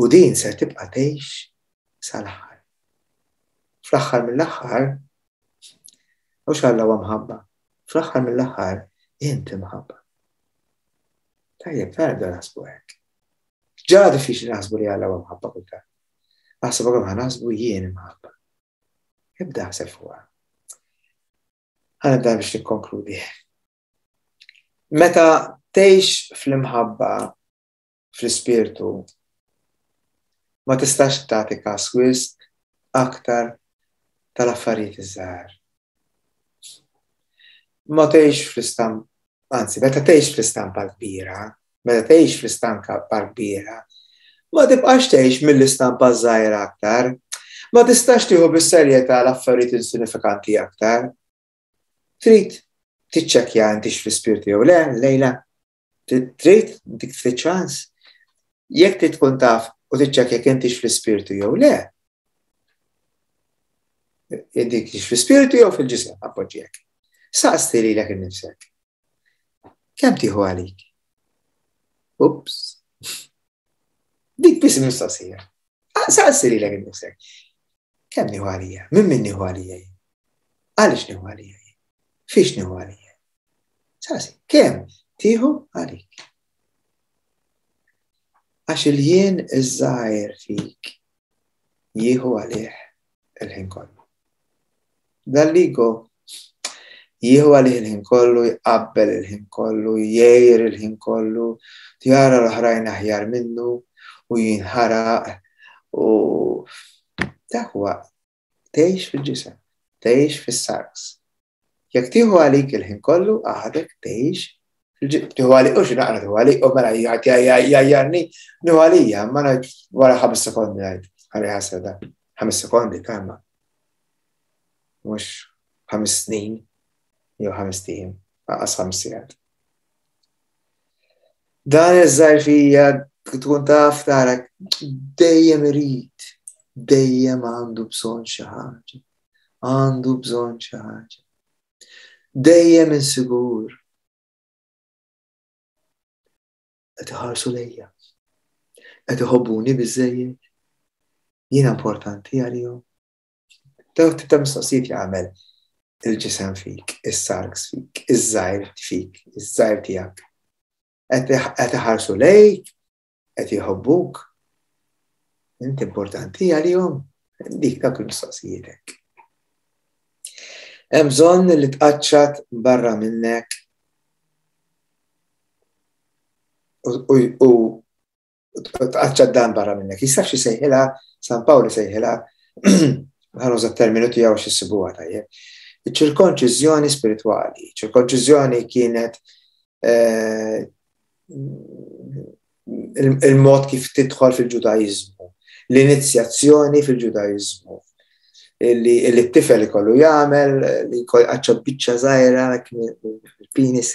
U din se tibqa' tgħix sal-aħħar. Fl-aħħar mill-aħħar, mhux Alla huwa mħabba, fl-aħħar mill-aħħar inti mħabba. Tajjeb, ta' nibda naħsbu hekk. Ġa diffiċli naħsbu li Alla huwa mħabba kultant. Naħseb kemm ħa naħsbu jien imħabba. Ibda ħseb fuqha. Ħa nibda biex nikkonkludi. Meta tgħix fl-imħabba fl-ispirtu, ma tistax tagħti każ wisq aktar tal-affarijiet iż-żgħar. Ma tgħix fl-istampa, anzi, meta tgħix fl-istampa kbira, meta tgħix fl-istampa kbira, ma tibqax tgħix mill-istampa żgħira aktar, ma tistax tieħu bis-serjetà l-affarijiet insinifikanti aktar. Trid tiċċekkja intix fl-ispirtu jew le, lejla. Trid dik ftit ċans. Jekk trid tkun taf u tiċċekkja jekk intix fl-ispirtu jew le. Inti fl-ispirtu jew fil-ġisem, appoġġjek. Saqsi lilek innifsek. Kemm tieħu għalik? Ups. Dik biss il-mistoqsija. Saqsi lilek innifsek. Kemm nieħu għalija? Min min nieħu għalija jien? Għaliex nieħu għalija jien? Fiex nieħu għalija? Saqsi, kemm tieħu għalik? Għax il-jien iż-żgħir fik jieħu għalih il-ħin kollu. Dal-ligo jieħu għalih il-ħin kollu, jqabbel il-ħin kollu, jgħir il-ħin kollu, jara l-oħrajn aħjar minnu u jinħaraq u dak huwa tgħix fil-ġisem, tgħix fis-sarks. Jekk tieħu għalik il-ħin kollu, għadek tgħix fil-ġisem. Tieħu għalik, u xi naqra tieħu għalik, u mela jgħajjarni, nieħu għalija, ma ngħid wara ħames sekondi ngħid, ħalli ħasra da, ħames sekondi kalma. Mhux ħames snin, jew ħames tiem, aqas ħames sigħat. Dan iż-żgħir fija tkun taf tara dejjem irid, dejjem għandu bżonn xi ħaġa, għandu bżonn xi ħaġa. Dejjem insigur. Qed iħarsu lejja. Qed iħobbuni biżżejjed. Jiena importanti għalihom. Dawk tip ta' mistoqsijiet jagħmel il-ġisem fik, is-sarks fik, iż-żgħir fik, iż-żgħir tiegħek. Qed iħarsu lejk, qed jħobbuk. Inti importanti għalihom. Dik dawk il-mistoqsijietek. Hemm bżonn li tqaċċat barra minnek u tqaċċat dan barra minnek. Jistax isejħilha, San Pawl isejħilha, ħa nuża t-terminu tiegħu xi ssibuha tajjeb. Iċ-ċirkonċiżjoni spiritwali. Ċirkonċiżjoni kienet, eh, il-mod kif tidħol fil-Ġudaiżmu, l-inizjazzjoni fil-Ġudaiżmu, illi, illi t-tifel ikollu jagħmel, li jkollu qaċċa biċċa żgħira il-penis,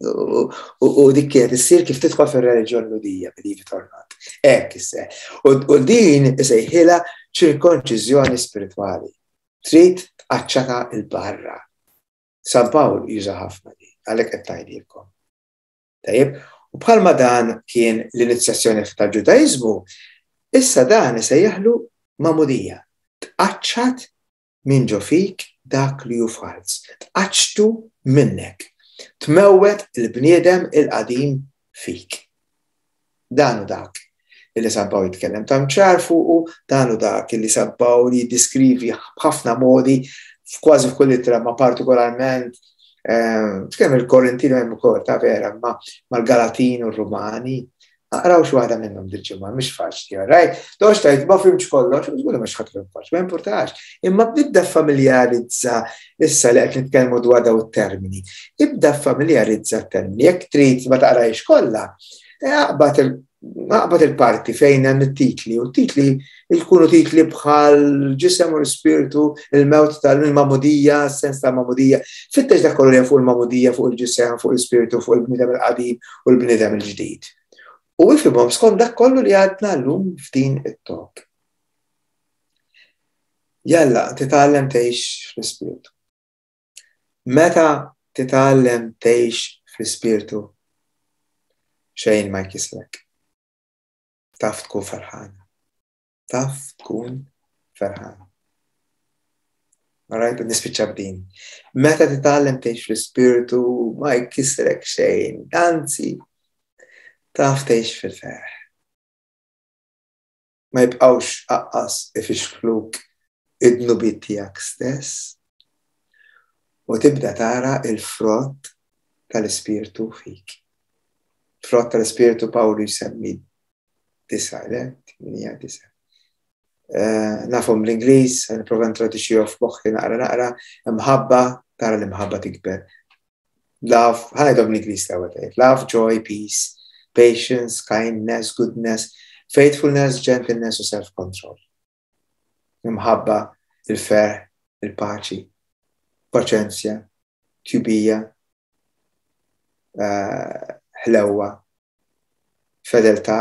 u, u, u dik kienet issir kif tidħol fir-reliġjon Lhudija, believe it or not. Hekk isse. U, u din isejħilha Ċirkonċiżjoni spiritwali. Trid tqaċċata 'l barra. San Pawl juża ħafna di, għalhekk qed ngħidilkom. Tajjeb, u bħalma dan kien l-inizjazzjoni tal-Ġudaiżmu, issa dan isejjaħlu magħmudija. Tqaċċat minn ġo fik dak li hu falz. Tqaċċtu minnek. Tmewwet il-bniedem il-qadim fik. Dan hu dak illi San Pawl jitkellem ta' ċar fuqu, dan hu dak illi San Pawl jiddiskrivi b'ħafna modi, f'kważi f'kull ittra, ma partikolarment kemm il-Korintini hemm ukoll ta' vera, ma mal-Galatin u r-Rumani. Aqraw xi waħda minnhom dil-ġimgħa, mhix faċli, right? Toqgħodx tgħid ma fhimtx kollox, żgur mhux ħadd kollox, ma importax. Imma bidda familjarizza issa li qed nitkellmu dwar daw it-termini. Ibda familjarizza t-termini. Jekk trid ma taqrajx kollha, aqbad aqbad il-parti fejn hemm it-titli, u t-titli jkunu titli bħal ġisem u l-spiritu, il-mewt tal-magħmudija, sens tal-magħmudija. Fittex dak kollu fuq il-magħmudija, fuq il-ġisem, fuq il-spiritu, fuq il-bniedem il-qadim u l-bniedem il-ġdid. U ifhimhom skont dak kollu li għadna llum f'din it-talk. Jalla, titgħallem tgħix fl-ispirtu. Meta titgħallem tgħix fl-ispirtu, xejn ma jkisrek. Taf tkun ferħana. Taf tkun ferħana. Alright, nispiċċa b'din. Meta titgħallem tgħix fl-ispirtu ma jkisrek xejn, anzi, taf tgħix fil-ferħ. Ma jibqgħux aqqas ifixkluk id-dnubiet tiegħek stess u tibda tara il-frott tal-ispirtu fik. Frott tal-ispirtu Pawlu jsemmi disa, le? Tminija, disa. Nafhom l-Ingliż, nipprova ntraduċihom f'moħħi naqra naqra, imħabba, tara l-imħabba tikber. Love, ħa ngħidhom l-Ingliż l-ewwel tgħid. Love, joy, peace, patience, kindness, goodness, faithfulness, gentleness u self-control. Imħabba, il-ferħ, il-paċi, paċenzja, tjubija, ħlewwa, fedeltà,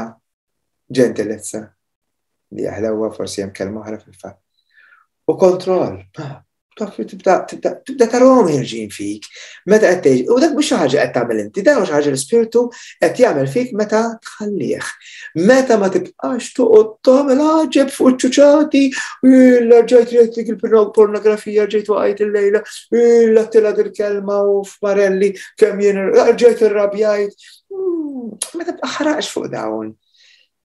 ġentilezza, li ħlewwa forsi hemm kelma oħra fil-fatt. U kontroll. Taf tibda tibda tibda tarahom ħerġin fik. Meta qed tgħix, u dak mhux xi ħaġa qed tagħmel inti, dan mhux ħaġa l-ispirtu qed jagħmel fik meta tħallih. Meta ma tibqax toqgħod tagħmel għaġeb fuq ċuċati, rġajt rajt dik il-pornografija, rġajt waqajt il-lejla, l-attila dil-kelma u f'Marelli kemm jien rġajt irrabjajt. Ma tibqa' fuq dawn.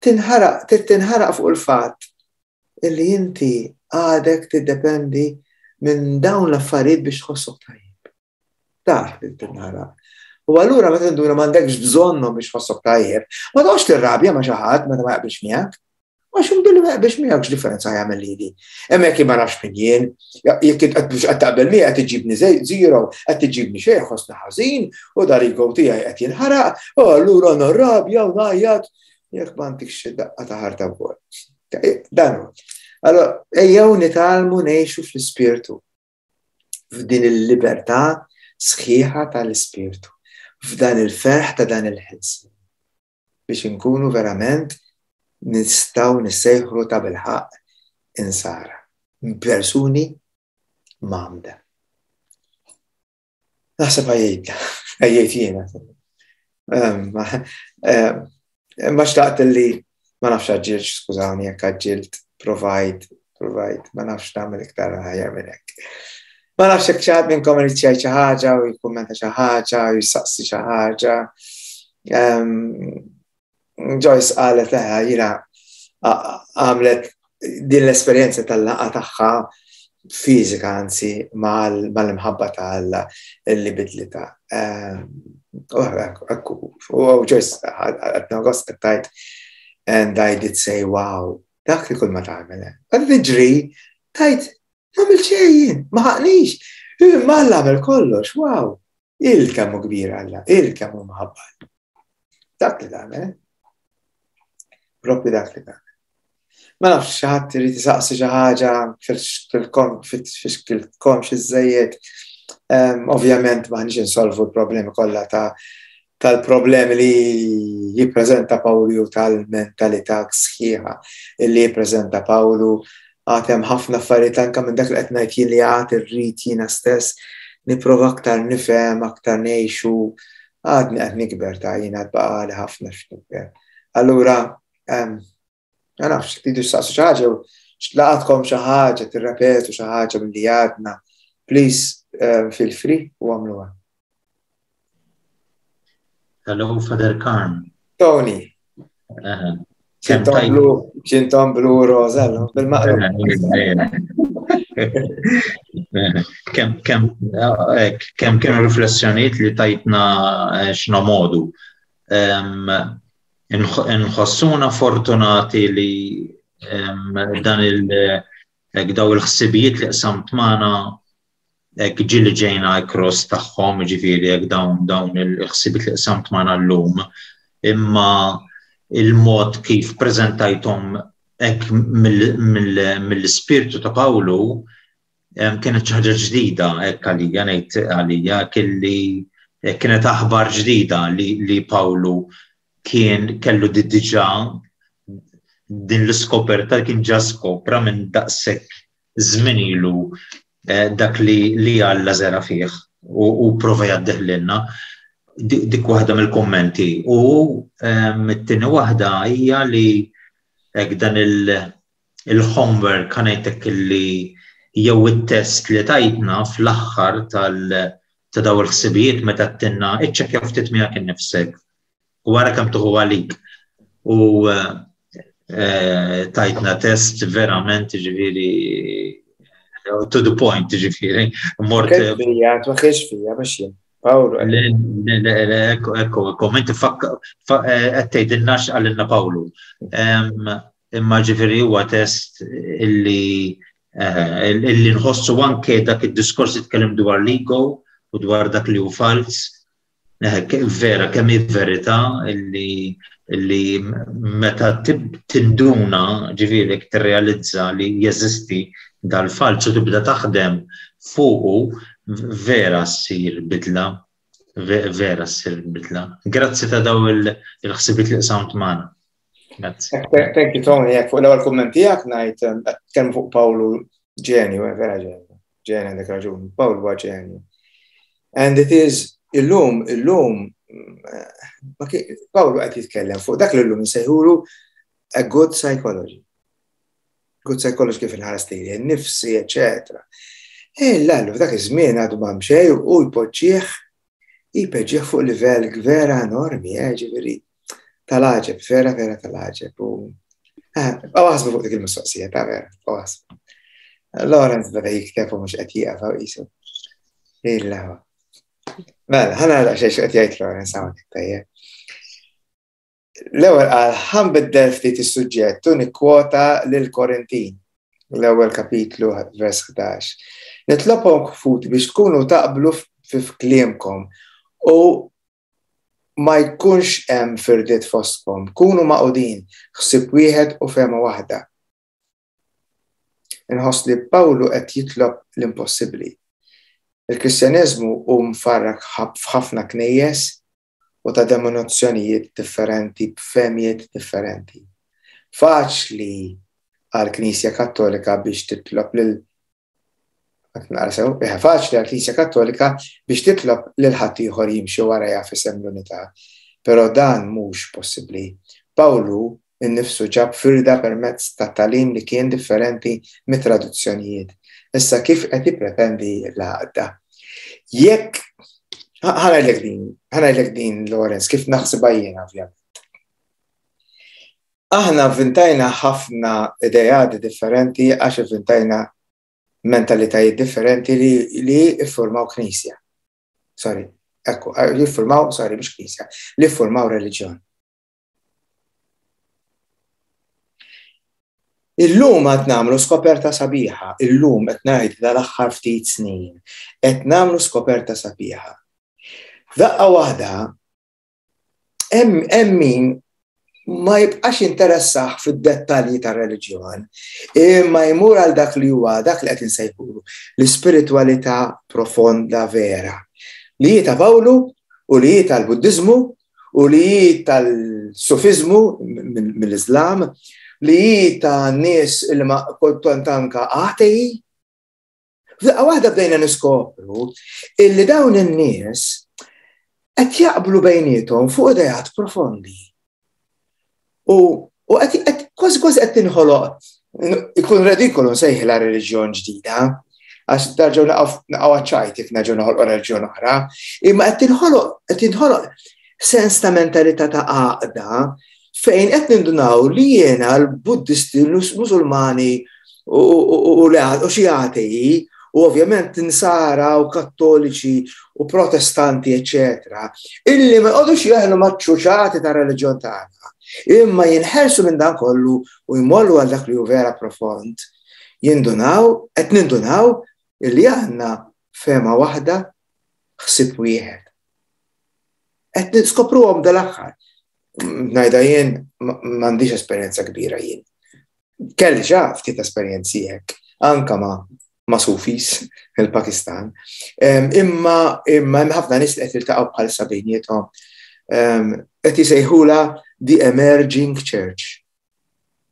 Tinħaraq, tinħaraq fuq il-fatt illi inti għadek tiddependi minn dawn l-affarijiet biex tħossok tajjeb. Dak li tinħaraq. U allura meta tinduna m'għandekx bżonnhom biex tħossok tajjeb, ma toqgħodx tirrabja ma' xi ħadd meta ma jaqbilx miegħek. Għax billi ma jaqbilx miegħek x'differenza jagħmel lili. Hemmhekk ma nafx min jien, jekk qed taqbel miegħi qed iġibni zero, qed iġibni xejn ħossni ħażin u dar ego tiegħi qed jinħaraq, u allura narrabja u ngħajjat jekk m'għandekx xi daqqa ta' ħarta wkoll. Dan hu. Allora, ejjew nitgħallmu ngħixu fl-ispirtu. F'din il-libertà sħiħa tal-ispirtu. F'dan il-ferħ ta' dan il-ħelsien. Biex inkunu verament nistgħu nissejħu ta' bilħaqq insara. Persuni mgħammda. Naħseb għajjejt, għajjejt jiena. Ma xtaqt li ma nafx għaġġilt, skużawni jekk għaġġilt, provajt, provajt, ma nafx nagħmel iktar aħjar minn hekk. Ma nafx jekk xi ħadd minnkom irid jgħid xi ħaġa u jikkummenta xi ħaġa u jistaqsi xi ħaġa. Joyce qalet leħa jiena għamlet din l-esperjenza tal-laqgħa tagħha fiżika anzi mal-imħabba ta' Alla li bidlitha. U Joyce għadna gost tajt and I did say wow, dak li kull ma tagħmel. Għad tiġri, tajt, għamil xejn, ma ħaqnix, ma Alla għamel kollox, wow. Il-kemm hu kbir Alla, il-kemm hu mħabba. Dak li tagħmel. Propju dak li tagħmel. Ma nafx xi ħadd irid isaqsi xi ħaġa fixkiltkom xi żejjed. Ovvjament m'aħniex insolvu l-problemi kollha ta' tal-problemi li jippreżenta Pawlu tal-mentalità sħiħa li jippreżenta Pawlu. Għad hemm ħafna affarijiet anke minn dak li qed ngħid jien li għad irrid jiena stess nipprova aktar nifhem, aktar ngħixu, għadni qed nikber ta' jiena għad baqali ħafna x'nikber. Allura, ma nafx, tridu x'saqsu xi ħaġa, x'laqatkom xi ħaġa, tirrepetu xi ħaġa milli għadna, please feel free u għamluha. Hello, Father Carm. Tony. Ċinton blu, ċinton blu rosa, bil-maqlub. Kemm kemm kemm kienu riflessjonijiet li tajtna x'nomodu. Nħossuna fortunati li dan il daw il-ħsibijiet li qsamt magħna hekk ġieli ġejna across tagħhom, ġifieri hekk dawn dawn il-ħsibijiet li qsamt magħna llum, imma il-mod kif preżentajthom hekk mill-ispirtu ta' Pawlu kienet xi ħaġa ġdida hekk għalija, ngħid għalija kelli kienet aħbar ġdida li, li Pawlu kien kellu diġà din l-iskoperta kien ġa skopra minn daqshekk żmien ilu dak li li Alla żera fih u, u prova jgħaddih lilna. Dik waħda mill-kummenti. U it-tieni waħda hija li hekk dan il-homework ngħidlek li jew it-test li tajtna fl-aħħar tal ta' daw il-ħsibijiet meta tinna iċċekkja ftit miegħek innifsek u wara kemm tuħu għalik. U tajtna test verament ġifieri to the point, ġifieri. Mort. Fija, twaħħiex fija, mhux jien. Pawlu. Ekku, ekku, inti qed tgħidilna x'qalilna Pawlu. Imma ġifieri huwa test illi illi nħossu anke dak id-diskors jitkellem dwar l-ego u dwar dak li hu fals. Vera, kemm hi verità illi illi meta tinduna, ġifieri tirrealizza li jeżisti dal-falz u tibda taħdem fuqu, vera ssir bidla, vera ssir bidla. Grazzi ta' daw il-ħsibiet li qsamt magħna. Grazzi. Thank you, Tony. Jekk fuq l-ewwel kumment tiegħek ngħid kemm fuq Pawlu ġenju, vera ġenju. Ġenju għandek raġun, Pawlu huwa ġenju. And it is illum, illum, Pawlu qed jitkellem fuq dak li llum insejħulu a good psychology. Good psychology kif inħares lili nnifsi, eċetera. E lallu, f'dak iż-żmien għadu ma xejn u jpoġġih jpoġġih fuq livell vera enormi, ġifieri tal-għaġeb, vera vera tal-għaġeb. U għasbu fuq dik il-mistoqsija, ta' vera, għasbu. Lawrence beda jikteb u mhux qed jieqaf hawn qisu. Illa. Mela, ħa nara xejn qed jgħid Lawrence hawnhekk tajjeb. L-ewwel qal ħanbiddel ftit is-suġġett u nikkwota lil Korintin, l-ewwel kapitlu vers ħdax. Nitlobhom ħuti biex tkunu taqblu fi kliemkom u ma jkunx hemm firdiet fostkom, kunu maqudin, ħsieb wieħed u fehma waħda. Inħoss li Pawlu qed jitlob l-impossibbli. Il-Kristjaneżmu hu mfarrak f'ħafna knejjes u ta' denominazzjonijiet differenti, b'fehmijiet differenti. Faċli għall-Knisja Kattolika biex titlob lil faċli għall-Knisja Kattolika biex titlob lil ħaddieħor jimxi warajha f'isem l-unità, però dan mhux possibbli. Pawlu innifsu ġab firda permezz ta' talim li kien differenti mit-traduzzjonijiet. Issa kif qed jippretendi l-għaqda? Jekk ħa ngħidlek din, ħa ngħidlek din Lawrence, kif naħsibha jien ovvjament. Aħna vvintajna ħafna ideat differenti għax ivvintajna mentalitajiet differenti li li iffurmaw knisja. Sorry, ekku, li iffurmaw, sorry, mhux knisja, li iffurmaw reliġjon. Illum qed nagħmlu skoperta sabiħa, illum qed ngħid dal-aħħar ftit snin, qed nagħmlu skoperta sabiħa. F'daqqa waħda hemm min ma jibqax interessah fid-dettalji tar-reliġjon, imma jmur għal dak li huwa dak li qed insejħulu l-ispiritwalità profonda vera, li hi ta' Pawlu u li hi tal-Buddiżmu u li hi tal-Sufizmu mill-Islam, li hi ta' nies li ma kultant anka atei. F'daqqa waħda bdejna niskopru illi dawn in-nies qed jaqblu bejniethom fuq ideat profondi. U u qed kważi kważi qed tinħoloq, ikun redikolu nsejħilha reliġjon ġdida, għax nerġgħu naqgħu ċajt jekk nerġgħu noħolqu reliġjon oħra, imma qed tinħoloq qed tinħoloq sens ta' mentalità ta' għaqda fejn qed nindunaw li jiena l-Buddisti, l-Musulmani u u xi atei, u ovvjament Insara u Kattoliċi u Protestanti, eccetera, illi ma jqogħdux jeħlu maċ-ċuċati ta' reliġjon tagħna, imma jinħelsu minn dan kollu u jmorru għal dak li hu vera profond, jindunaw, qed nindunaw illi għandna fehma waħda, ħsieb wieħed. Qed niskopruhom dal-aħħar. Ngħidha jien, m'għandix esperjenza kbira jien. Kelli ġa ftit esperjenzi hekk, anka ma' ma' Sufis il-Pakistan. Imma imma hemm ħafna nies li qed jiltaqgħu bħalissa bejniethom. Qed jisejħula the emerging church.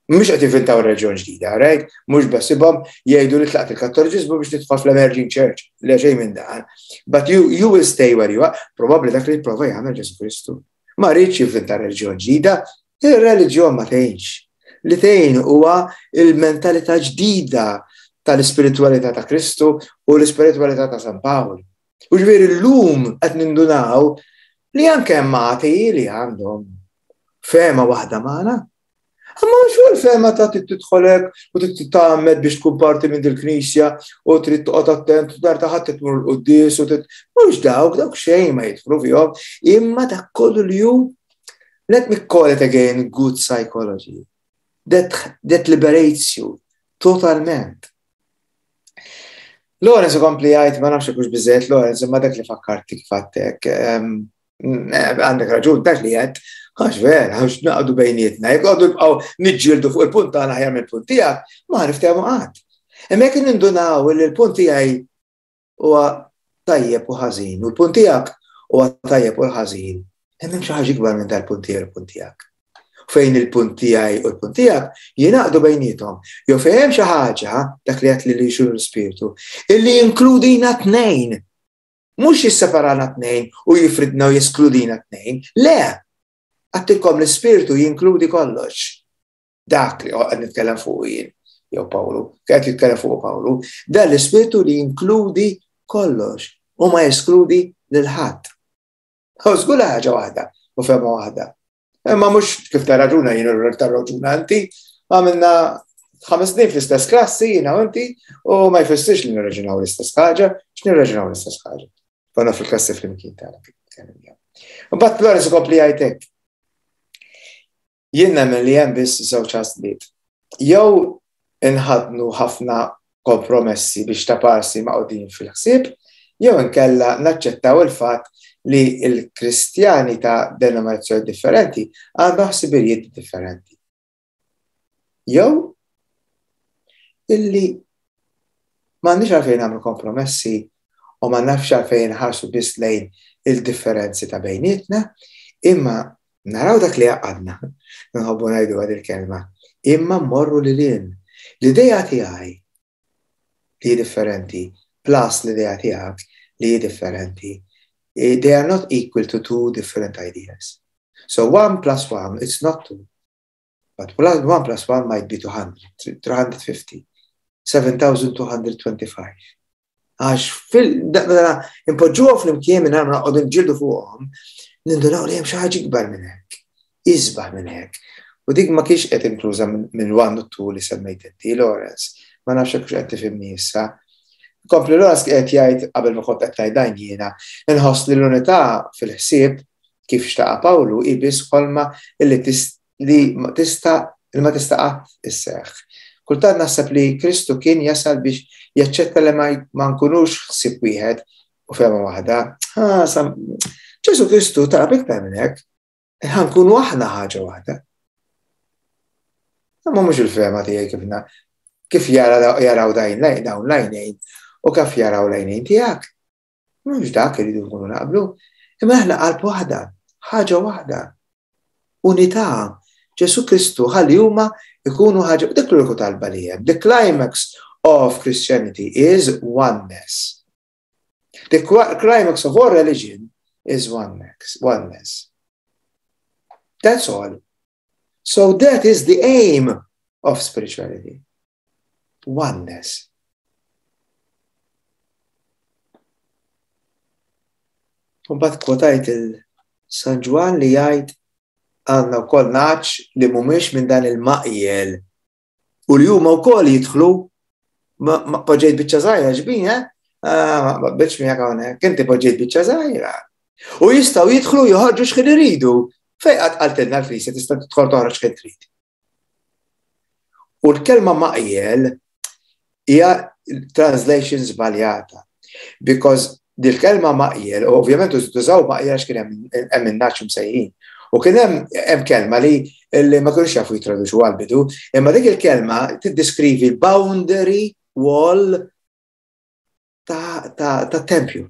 Mhux qed jivvintaw reliġjon ġdida, right? Mhux beħsiebhom jgħidu li tlaqt il-Kattoliċiżmu biex tidħol fl-emerging church. Le, xejn minn dan. But you, you will stay where you are. Probabbli dak li jipprova jagħmel Ġesu Kristu. Ma rridx jivvinta reliġjon ġdida, ir-reliġjon ma tgħinx. Li tgħin huwa il-mentalità ġdida tal-ispiritualità ta' Kristu u l-ispiritualità ta' San Pawl. U ġifieri llum qed nindunaw li anke hemm atei li għandhom fehma waħda magħna. Imma mhux fuq il-fehma ta' trid tidħolek u trid titgħammed biex tkun parti minn dil-knisja u trid toqgħod attent u dar ta' ħadd tmur l-quddies u trid, mhux dawk, dawk xejn ma jidħlu fihom, imma dak kollu li hu, let me call it again, good psychology. That, that liberates you totalment. Lawrence ikompli jgħid, ma nafx hux biżejjed Lawrence, imma dak li fakkarti kif għedtlek, għandek raġun, dak li għedt, għax vera, għax naqdu bejnietna, jekk għadu nibqgħu niġġieldu fuq il-punt tagħna aħjar mill-punt tiegħek, ma niftehmu qatt. Imma jekk nindunaw li l-punt tiegħi huwa tajjeb u ħażin, u l-punt tiegħek huwa tajjeb u l-ħażin, hemm xi ħaġa ikbar minn dal-punt tiegħi u l-punt tiegħek. Fejn il-punt tiegħi u l-punt tiegħek jingħaqdu bejniethom. Jew fejn hemm xi ħaġa, dak li qed li xuru l-ispirtu, illi jinkludina tnejn. Mhux jisseparana tnejn u jifridna u jeskludina tnejn. Le, għedtilkom l-ispirtu jinkludi kollox. Dak li qed nitkellem fuq jien, jew Pawlu, qed jitkellem fuq Pawlu, dan l-ispirtu li jinkludi kollox u ma jeskludi lil ħadd. U żgur ħaġa waħda u fehma waħda. Imma mhux kif ta' raġuna jien u ta' raġuna inti, għamilna ħames snin fl-istess klassi jiena u inti u ma jfissirx li nirraġunaw l-istess ħaġa, x'nirraġunaw l-istess ħaġa. Konna fil-klassi flimkien tagħna. Mbagħad Lawrence ikompli jgħidlek. Jien nemmen li hemm biss żewġ għażliet. Jew inħadnu ħafna kompromessi biex ta' parsi maqudin fil-ħsieb, jew inkella naċċettaw il-fatt li l-Kristjani ta' denominazzjoni differenti għandhom ħsibijiet differenti. Jew illi m'għandniex għalfejn nagħmlu kompromessi u ma nafx għalfejn nħarsu biss lejn il-differenzi ta' bejnietna, imma naraw dak li għadna, nħobbu ngħidu għad il-kelma, imma mmorru lil hinn. L-idea tiegħi li differenti plus l-idea tiegħek li differenti, they are not equal to two different ideas. So one plus one, it's not two. But one plus one might be two hundred, three hundred fifty, seven thousand two hundred twenty-five. Għax fil-daqna impoġġuha flimkien minn għamna qogħdu nġildu fuqhom, nindunaw li hemm xi ħaġa ikbar minn hekk, isbaħ minn hekk. U dik ma kienx qed inkluża minn one u two li semmejt inti, Lawrence. Ma nafx hekk qed tifhimni issa. Kompli Lawrence qed jgħid qabel ma kont qed ngħid dan jiena, inħoss li l-unità fil-ħsieb kif xtaqa Pawlu hi biss ħolma illi li tista' li ma tista' qatt isseħħ. Kultant naħseb li Kristu kien jasal biex jaċċetta li ma nkunux ħsieb wieħed u fehma waħda. Ah, Ġesu Kristu talab iktar minn hekk, ħa nkunu aħna ħaġa waħda. Imma mhux il-fehma tiegħi kif na-, kif jara, jaraw dajn lejn, dawn lajnejn u kif jaraw lajnejn tiegħek. Mhux dak iridu nkunu naqblu, imma aħna qalb waħda, ħaġa waħda, unità Ġesu Kristu ħalli huma ikunu ħaġa, dik l-uniku talba li hemm. The climax of Christianity is oneness. The climax of all religion is oneness. Oneness. That's all. So that is the aim of spirituality. Oneness. Mbagħad kwotajt il-San Ġwann li jgħid għandna wkoll nagħaġ li mhumiex minn dan il-maqjel u li huma wkoll jidħlu ma poġġejt biċċa żgħira ġbin, eh? Ah, ma qbilx miegħek hawnhekk, inti poġġejt biċċa żgħira. U jistgħu jidħlu joħorġu x'ħin iridu. Fejn qatt qaltilna l-Knisja tista' tidħol toħroġ x'ħin trid. U l-kelma maqjel hija translation żbaljata. Because dil-kelma maqjel, u ovvjament tużaw maqjel għax kien hemm in-nagħaġ msejħin. U kien hemm hemm kelma li li ma kinux jafu jitraduċu għal-bidu, imma dik il-kelma tiddeskrivi l-boundary wall ta', ta, ta' tempju.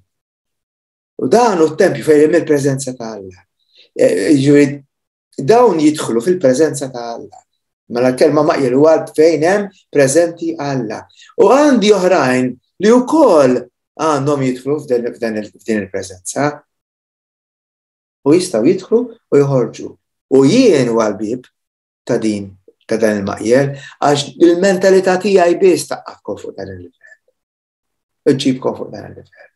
U dan hu t-tempju fejn hemm il-preżenza ta' Alla. E, jiġifieri dawn jidħlu fil-preżenza ta' Alla. Mela l-kelma maqjel huwa fejn hemm preżenti Alla. U għandi oħrajn li wkoll għandhom jidħlu f'din il-preżenza. U jistgħu jidħlu u joħorġu. U jien huwa l-bieb ta' din ta' dan il-maqjel, għax il-mentalità tiegħi biss taqqafkom fuq dan il-livell. Iġġibkom fuq dan il-livell.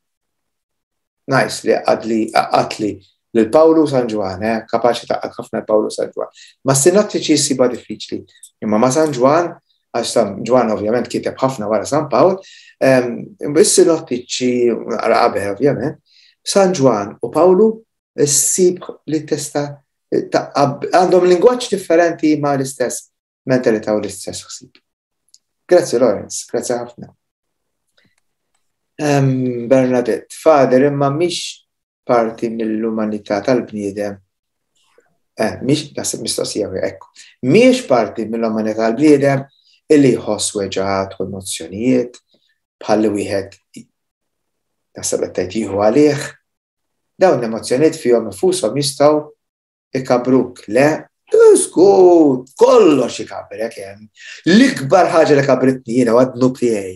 Nice li għadli għatli lil Pawlu San Ġwann, eh, kapaċi taqqad ħafna Pawlu San Ġwann. Ma sinottiċi ssiba diffiċli. Imma ma San Ġwann, għax San Ġwann ovvjament kiteb ħafna wara San Pawl, is-sinottiċi naqra qabel ovvjament, San Ġwann u Pawlu ssib li tista' għandhom lingwaġġ differenti ma l-istess mentalità u l-istess ħsieb. Grazzi Lawrence, grazzi ħafna. Um, Bernadette, Father, imma mhix parti mill-umanità tal-bniedem. Eh, mhix, naħseb mistoqsija ekku. Mhix parti mill-umanità tal-bniedem illi jħoss weġgħat u emozzjonijiet bħalli wieħed naħseb qed tgħid jieħu għalih. Dawn l-emozzjonijiet fihom infushom jistgħu ikabruk. Le, żgur, kollox ikabrek hemm. L-ikbar ħaġa li kabritni jiena huwa d-dnub tiegħi.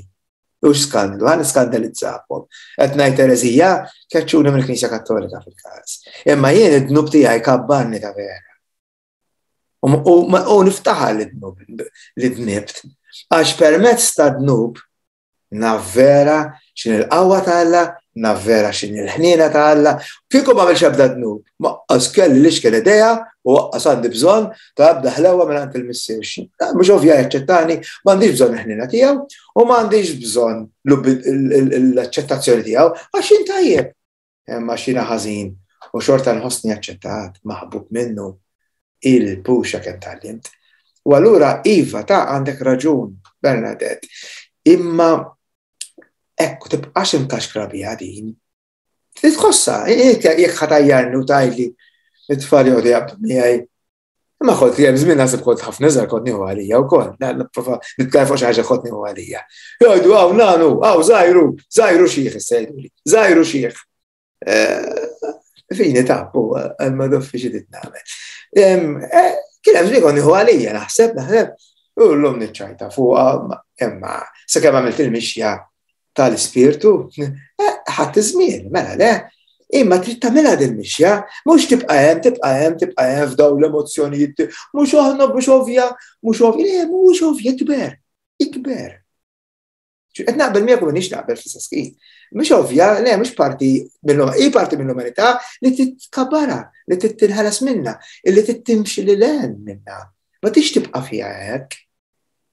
U skandlu, għan skandalizzakom. Qed ngħid ereżija, keċċuni mill-Knisja Kattolika fil-każ. Imma jien id-dnub tiegħi kabbarni ta' vera. U niftaħar li dnub li dnibt. Għax permezz ta' dnub naf vera x'in il-qawwa ta' Alla, naf vera x'in il-ħniena ta' Alla. Kieku ma għamilx ebda dnub, ma qas kelli li x'kien idea u qas għandi bżonn ta' ebda ħlewa minn għand il-missier. Mhux ovvja jaċċettani, m'għandix bżonn il-ħniena tiegħu u m'għandix bżonn l-aċċettazzjoni tiegħu għax jien tajjeb. Imma x'jiena ħażin u xorta nħossni aċċettat, maħbub minnu, il-puxa kemm tgħallimt. U allura iva ta' għandek raġun, Bernadette, imma ekku tibqax imkaxkra biha din. Titħossa, jekk ħatajjarni u tgħidli it-tfal joqogħdu jaqbdu miegħi. Imma kont hemm żmien naħseb kont ħafna iżgħar kont nieħu għalija wkoll, nipprova nitkellem fuq xi ħaġa kont nieħu għalija. Jgħidu hawn nanu, hawn żgħiru, żgħiru xieħ issa jgħiduli, żgħiru xieħ. Fini tappu, ma doffi xi titnagħmel. Kien hemm żmien kont nieħu għalija naħseb, naħseb, u llum niċċajta fuqha, imma sakemm għamilt il-mixja tal-ispirtu, ħadd iż-żmien, mela le. Imma trid tagħmilha din mixja, mhux tibqa' hemm, tibqa' hemm, tibqa' hemm f'dawn l-emozzjonijiet, mhux aħna mhux ovvja, mhux ovvja, le mhux ovvja, ikber, ikber. Qed naqbel miegħek u m'iniex naqbel fl-istess ħin. Mhux ovvja, le mhux parti mill hi parti mill-umanità li titkabara, li tinħeles minnha, li timxi lil hemm minnha. Ma tix tibqa' fiha hekk.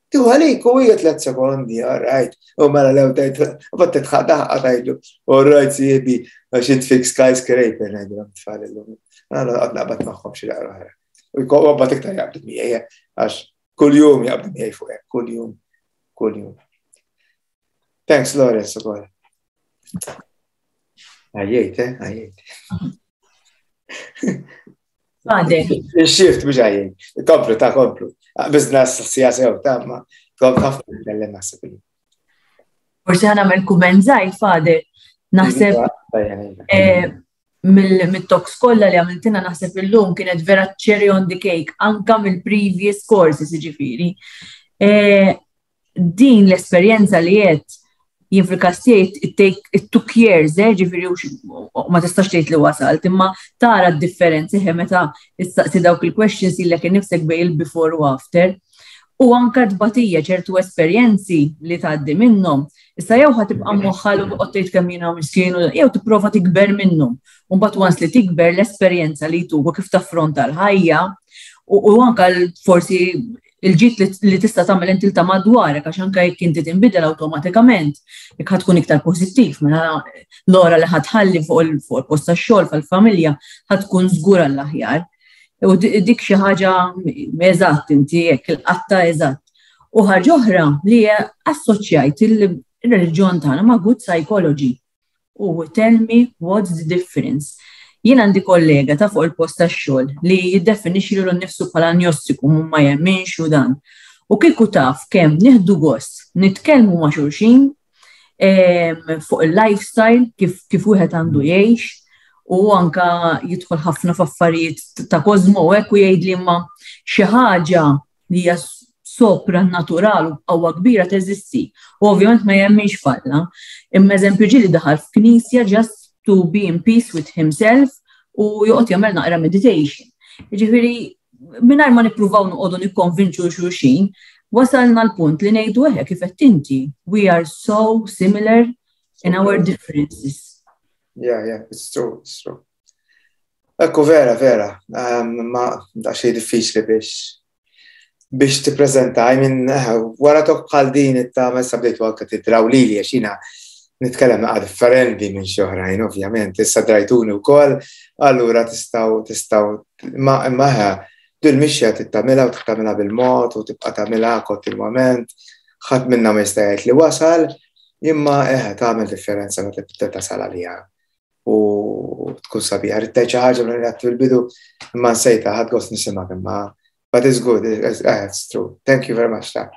Tieħu għalik u hija tliet sekondi, all right. U mela lew tgħid, u bat titħaq daħqa tgħidlu, all right sieħbi, għax int fik skyscraper ngħidilhom tfal illum. Għana qed naqbad magħhom xi daqra oħra. U jkun bat iktar jaqbdu miegħi, għax kuljum jaqbdu miegħi fuq hekk, kuljum, kuljum. Thanks, Lawrence, ukoll. Għajjejt, eh? Għajjejt. Għandek. Il-shift mhux għajjejt. Komplu, ta' komplu. Bizna s-sija sew, ta' ma kont ħafna nitkellem naħseb. Forsi ħa nagħmel kumment żgħir, Father. Naħseb Mill-talks kollha li għamiltina, naħseb illum kienet vera cherry on the cake, anka mill-previous courses, ġifieri. E, din l-esperjenza li qed jien fil-każ tiegħi it take it took years, eh, ġifieri ma tistax tgħid li wasalt, imma tara d-differenzi meta issaqsi dawk il-questions lilek innifsek bejn il-before u after. U anka tbatija, ċertu esperjenzi li tgħaddi minnhom. Issa jew ħa tibqa' moħħal u tgħid kemm jiena miskin, jew tipprova tikber minnhom. U mbagħad once li tikber, l-esperjenza li tuku kif taffronta l-ħajja u anka forsi il-ġid li tista' tagħmel inti ta' madwarek, għax anke jekk inti tinbidel awtomatikament, jekk ħa tkun iktar pożittiv, mela l-ora li ħa tħalli fuq il-post tax-xogħol, fil-familja, ħa tkun żgur għall-aħjar. U dik xi ħaġa, eżatt, inti hekk il-qatta, eżatt. U ħaġa oħra li assoċjajt il-reliġjon tagħna ma' good psychology. U tell me what's the difference. Jien għandi kollega ta' fuq il-post tax-xogħol li jiddefinixxi lilu nnifsu bħala agnostiku, ma jemminx u dan. U kieku taf kemm nieħdu gost nitkellmu ma' xulxin fuq il-lifestyle, kif kif wieħed għandu jgħix, u anka jidħol ħafna f'affarijiet ta' kozmo u hekk, u jgħid li ma xi ħaġa li hija sopranatural u qawwa kbira teżisti. U ovvjament ma jemminx f'Alla. Imma eżempju ġieli daħal f'knisja just to be in peace with himself u joqgħod jagħmel naqra meditation. Jiġifieri mingħajr ma nippruvaw noqogħdu nikkonvinċu xulxin, wasalna l-punt li ngħidu eħe, kif qed inti, we are so similar in our differences. Yeah, yeah, it's true, it's true. Ekku, vera, vera, um, ma da xej diffiċli biex biex tippreżenta. I mean, eh, wara talk bħal din it-ta' messa bdejtu anke tidraw lili, għax jiena nitkellem naqa differenti minn xi oħrajn, ovvjament, issa drajtuni wkoll, allura tistgħu tistgħu ma imma dil-mixja tittamilha u tagħmilha bil-mod u tibqa' tagħmilha kontinwament, ħadd minna ma jista' jgħid li wasal, imma eħe, tagħmel differenza meta tibda tasal għaliha u tkun sabiħa. Ridt xi ħaġa minn li fil-bidu imma nsejta, ħadt gost nisimgħek imma. But it's good, it's, it's true. Thank you very much, ta.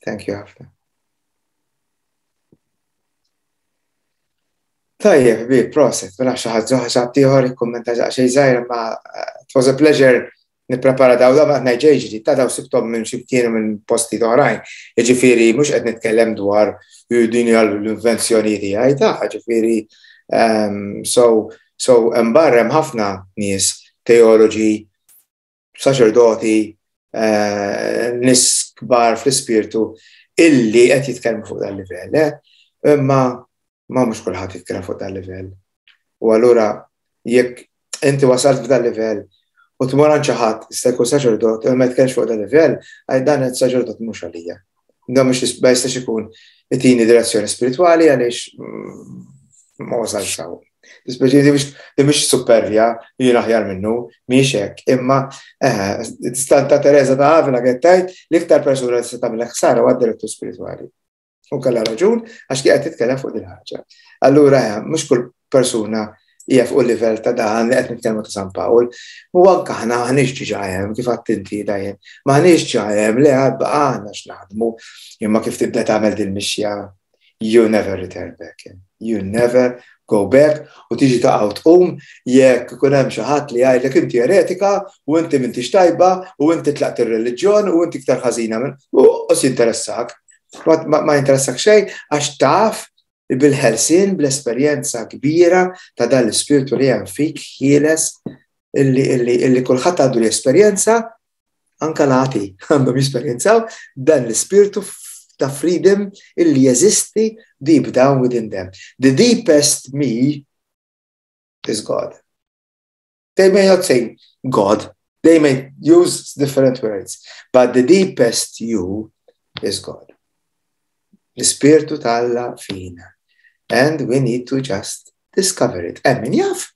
Thank you ħafna. Tajjeb, bi, proset, mela xi ħadd ħadd ieħor ikkummenta xejn żgħir, imma it was a pleasure nipprepara daw da ma ngħid ġdid ta' daw, sibthom minn xi kienu minn posti oħrajn. Jiġifieri mhux qed nitkellem dwar din hija l-invenzjoni tiegħi ta', ġifieri um, so so hemm barra hemm ħafna nies, teoloġi, saċerdoti, uh, nies kbar fl-ispirtu illi qed jitkellmu fuq dan livell, eh? Imma ma mhux kulħadd jitkellem fuq dan livell. U allura jekk inti wasalt f'dan livell u tmur għand xi ħadd, jista' jkun saċerdot, u ma jitkellemx fuq dan livell, għaj dan il-saċerdot mhux għalija. Dan mhux ma jistax ikun itini direzzjoni spiritwali għaliex mm, ma wasalx hawn. Dispeċi di mhix supervja, jien aħjar minnu, mhix hekk, imma eh, Santa Teresa ta' Avila qed tgħid l-iktar persuna li tista' tagħmel ħsara huwa direttur spiritwali. U kellha raġun, għax kien qed titkellem fuq din ħaġa. Allura eh, mhux kull persuna hija fuq il-livell ta' dan li qed nitkellmu ta' San Pawl. U anke aħna m'aħniex diġà hemm, kif għedt inti dajjem, m'aħniex ġa hemm, li għad baqgħana x'naħdmu, imma kif tibda tagħmel din mixja, you never return back. You never go back, u tiġi taqgħu tqum jekk ikun hemm xi ħadd li jgħidlek inti eretika u inti m'intix tajba u inti tlaqt ir-reliġjon u inti iktar ħażina minn u jinteressak. Ma, ma jinteressak xejn għax taf bil-ħelsien, bl-esperjenza kbira ta' dan l-ispirtu li hemm fik ħieles, illi, illi, illi kulħadd għandu l-esperjenza, anka l-atei għandhom jesperjenzaw dan l-ispirtu ta' freedom illi jeżisti deep down within them. The deepest me is God. They may not say God, they may use different words, but the deepest you is God. L-ispirtu t'Alla fina. And we need to just discover it. Hemm min jaf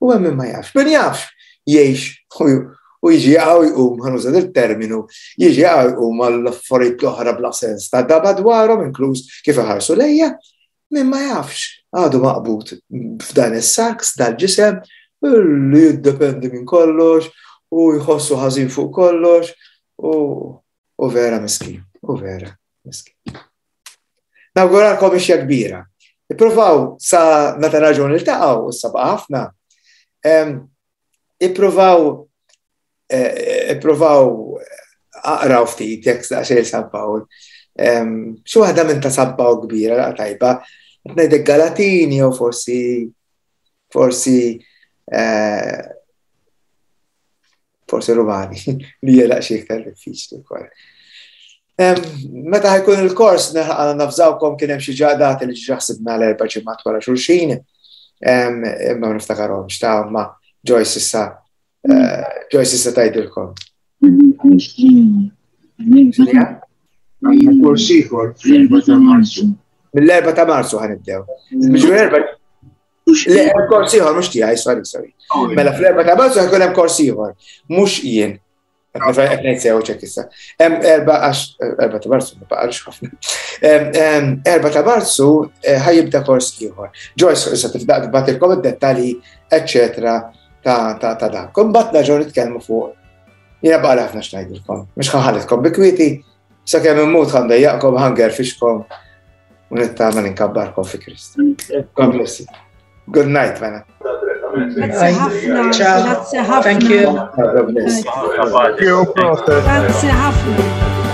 u hemm min ma jafx. Min jafx jgħix u jiġi għaw jqum, ħa nuża il-terminu, jiġi għaw jqum għall-affarijiet l-oħra bla sens ta' daba dwarhom, inkluż kif iħarsu lejja, min ma jafx għadu maqbud f'dan is-saks dal-ġisem li jiddependi minn kollox u jħossu ħażin fuq kollox u, u vera miskin, u vera miskin. Nawguralkom ixja kbira. Ippruvaw sa meta raġun niltaqgħu, u sabaqa ħafna. Ippruvaw eh, ippruvaw aqraw ftit jekk daqsxejn San Pawl. Xi waħda minn ta' San Pawl kbira laqgħa tajba, ngħidlek Galatini jew forsi forsi eh, forsi Rumani li hija daqsxejn iktar diffiċli wkoll. Meta ħa jkun il-kors navżawkom kien hemm xi dati li ġa ħsibna l-erba' ġimgħat wara xulxin, imma niftakarhom x'ta' ma Joyce issa eh, Joyce issa tgħidilkom. Kors ieħor fl-erba' ta' Marzu. Mill-erba' ta' Marzu ħa nibdew. Miġu erba' Le, hemm kors ieħor mhux tiegħi, sorry, sorry. Mela fl-erba' ta' Marzu ħa jkun hemm kors ieħor, mhux jien. Qed ngħid sew ċek issa. Hemm erba' għax erba' ta' Marzu ma baqalx ħafna. Erba' ta' Marzu eh, ħa jibda kors ieħor. Joyce issa tibda tibgħatilkom id-dettalji, eċċetera ta' ta' ta' dak. Imbagħad nerġgħu nitkellmu fuq. Jiena baqa' ħafna x'ngħidilkom. Mhux ħa nħallikom bi kwieti, sakemm immut ħa ndejjaqkom, ħa ngerfixkom u nittama ninkabbarkom fi Kristu. God bless you. Good night, mela. Grazie ħafna. Ciao. Grazie ħafna. Thank you. God bless. Thank you, Prophet. Grazie ħafna.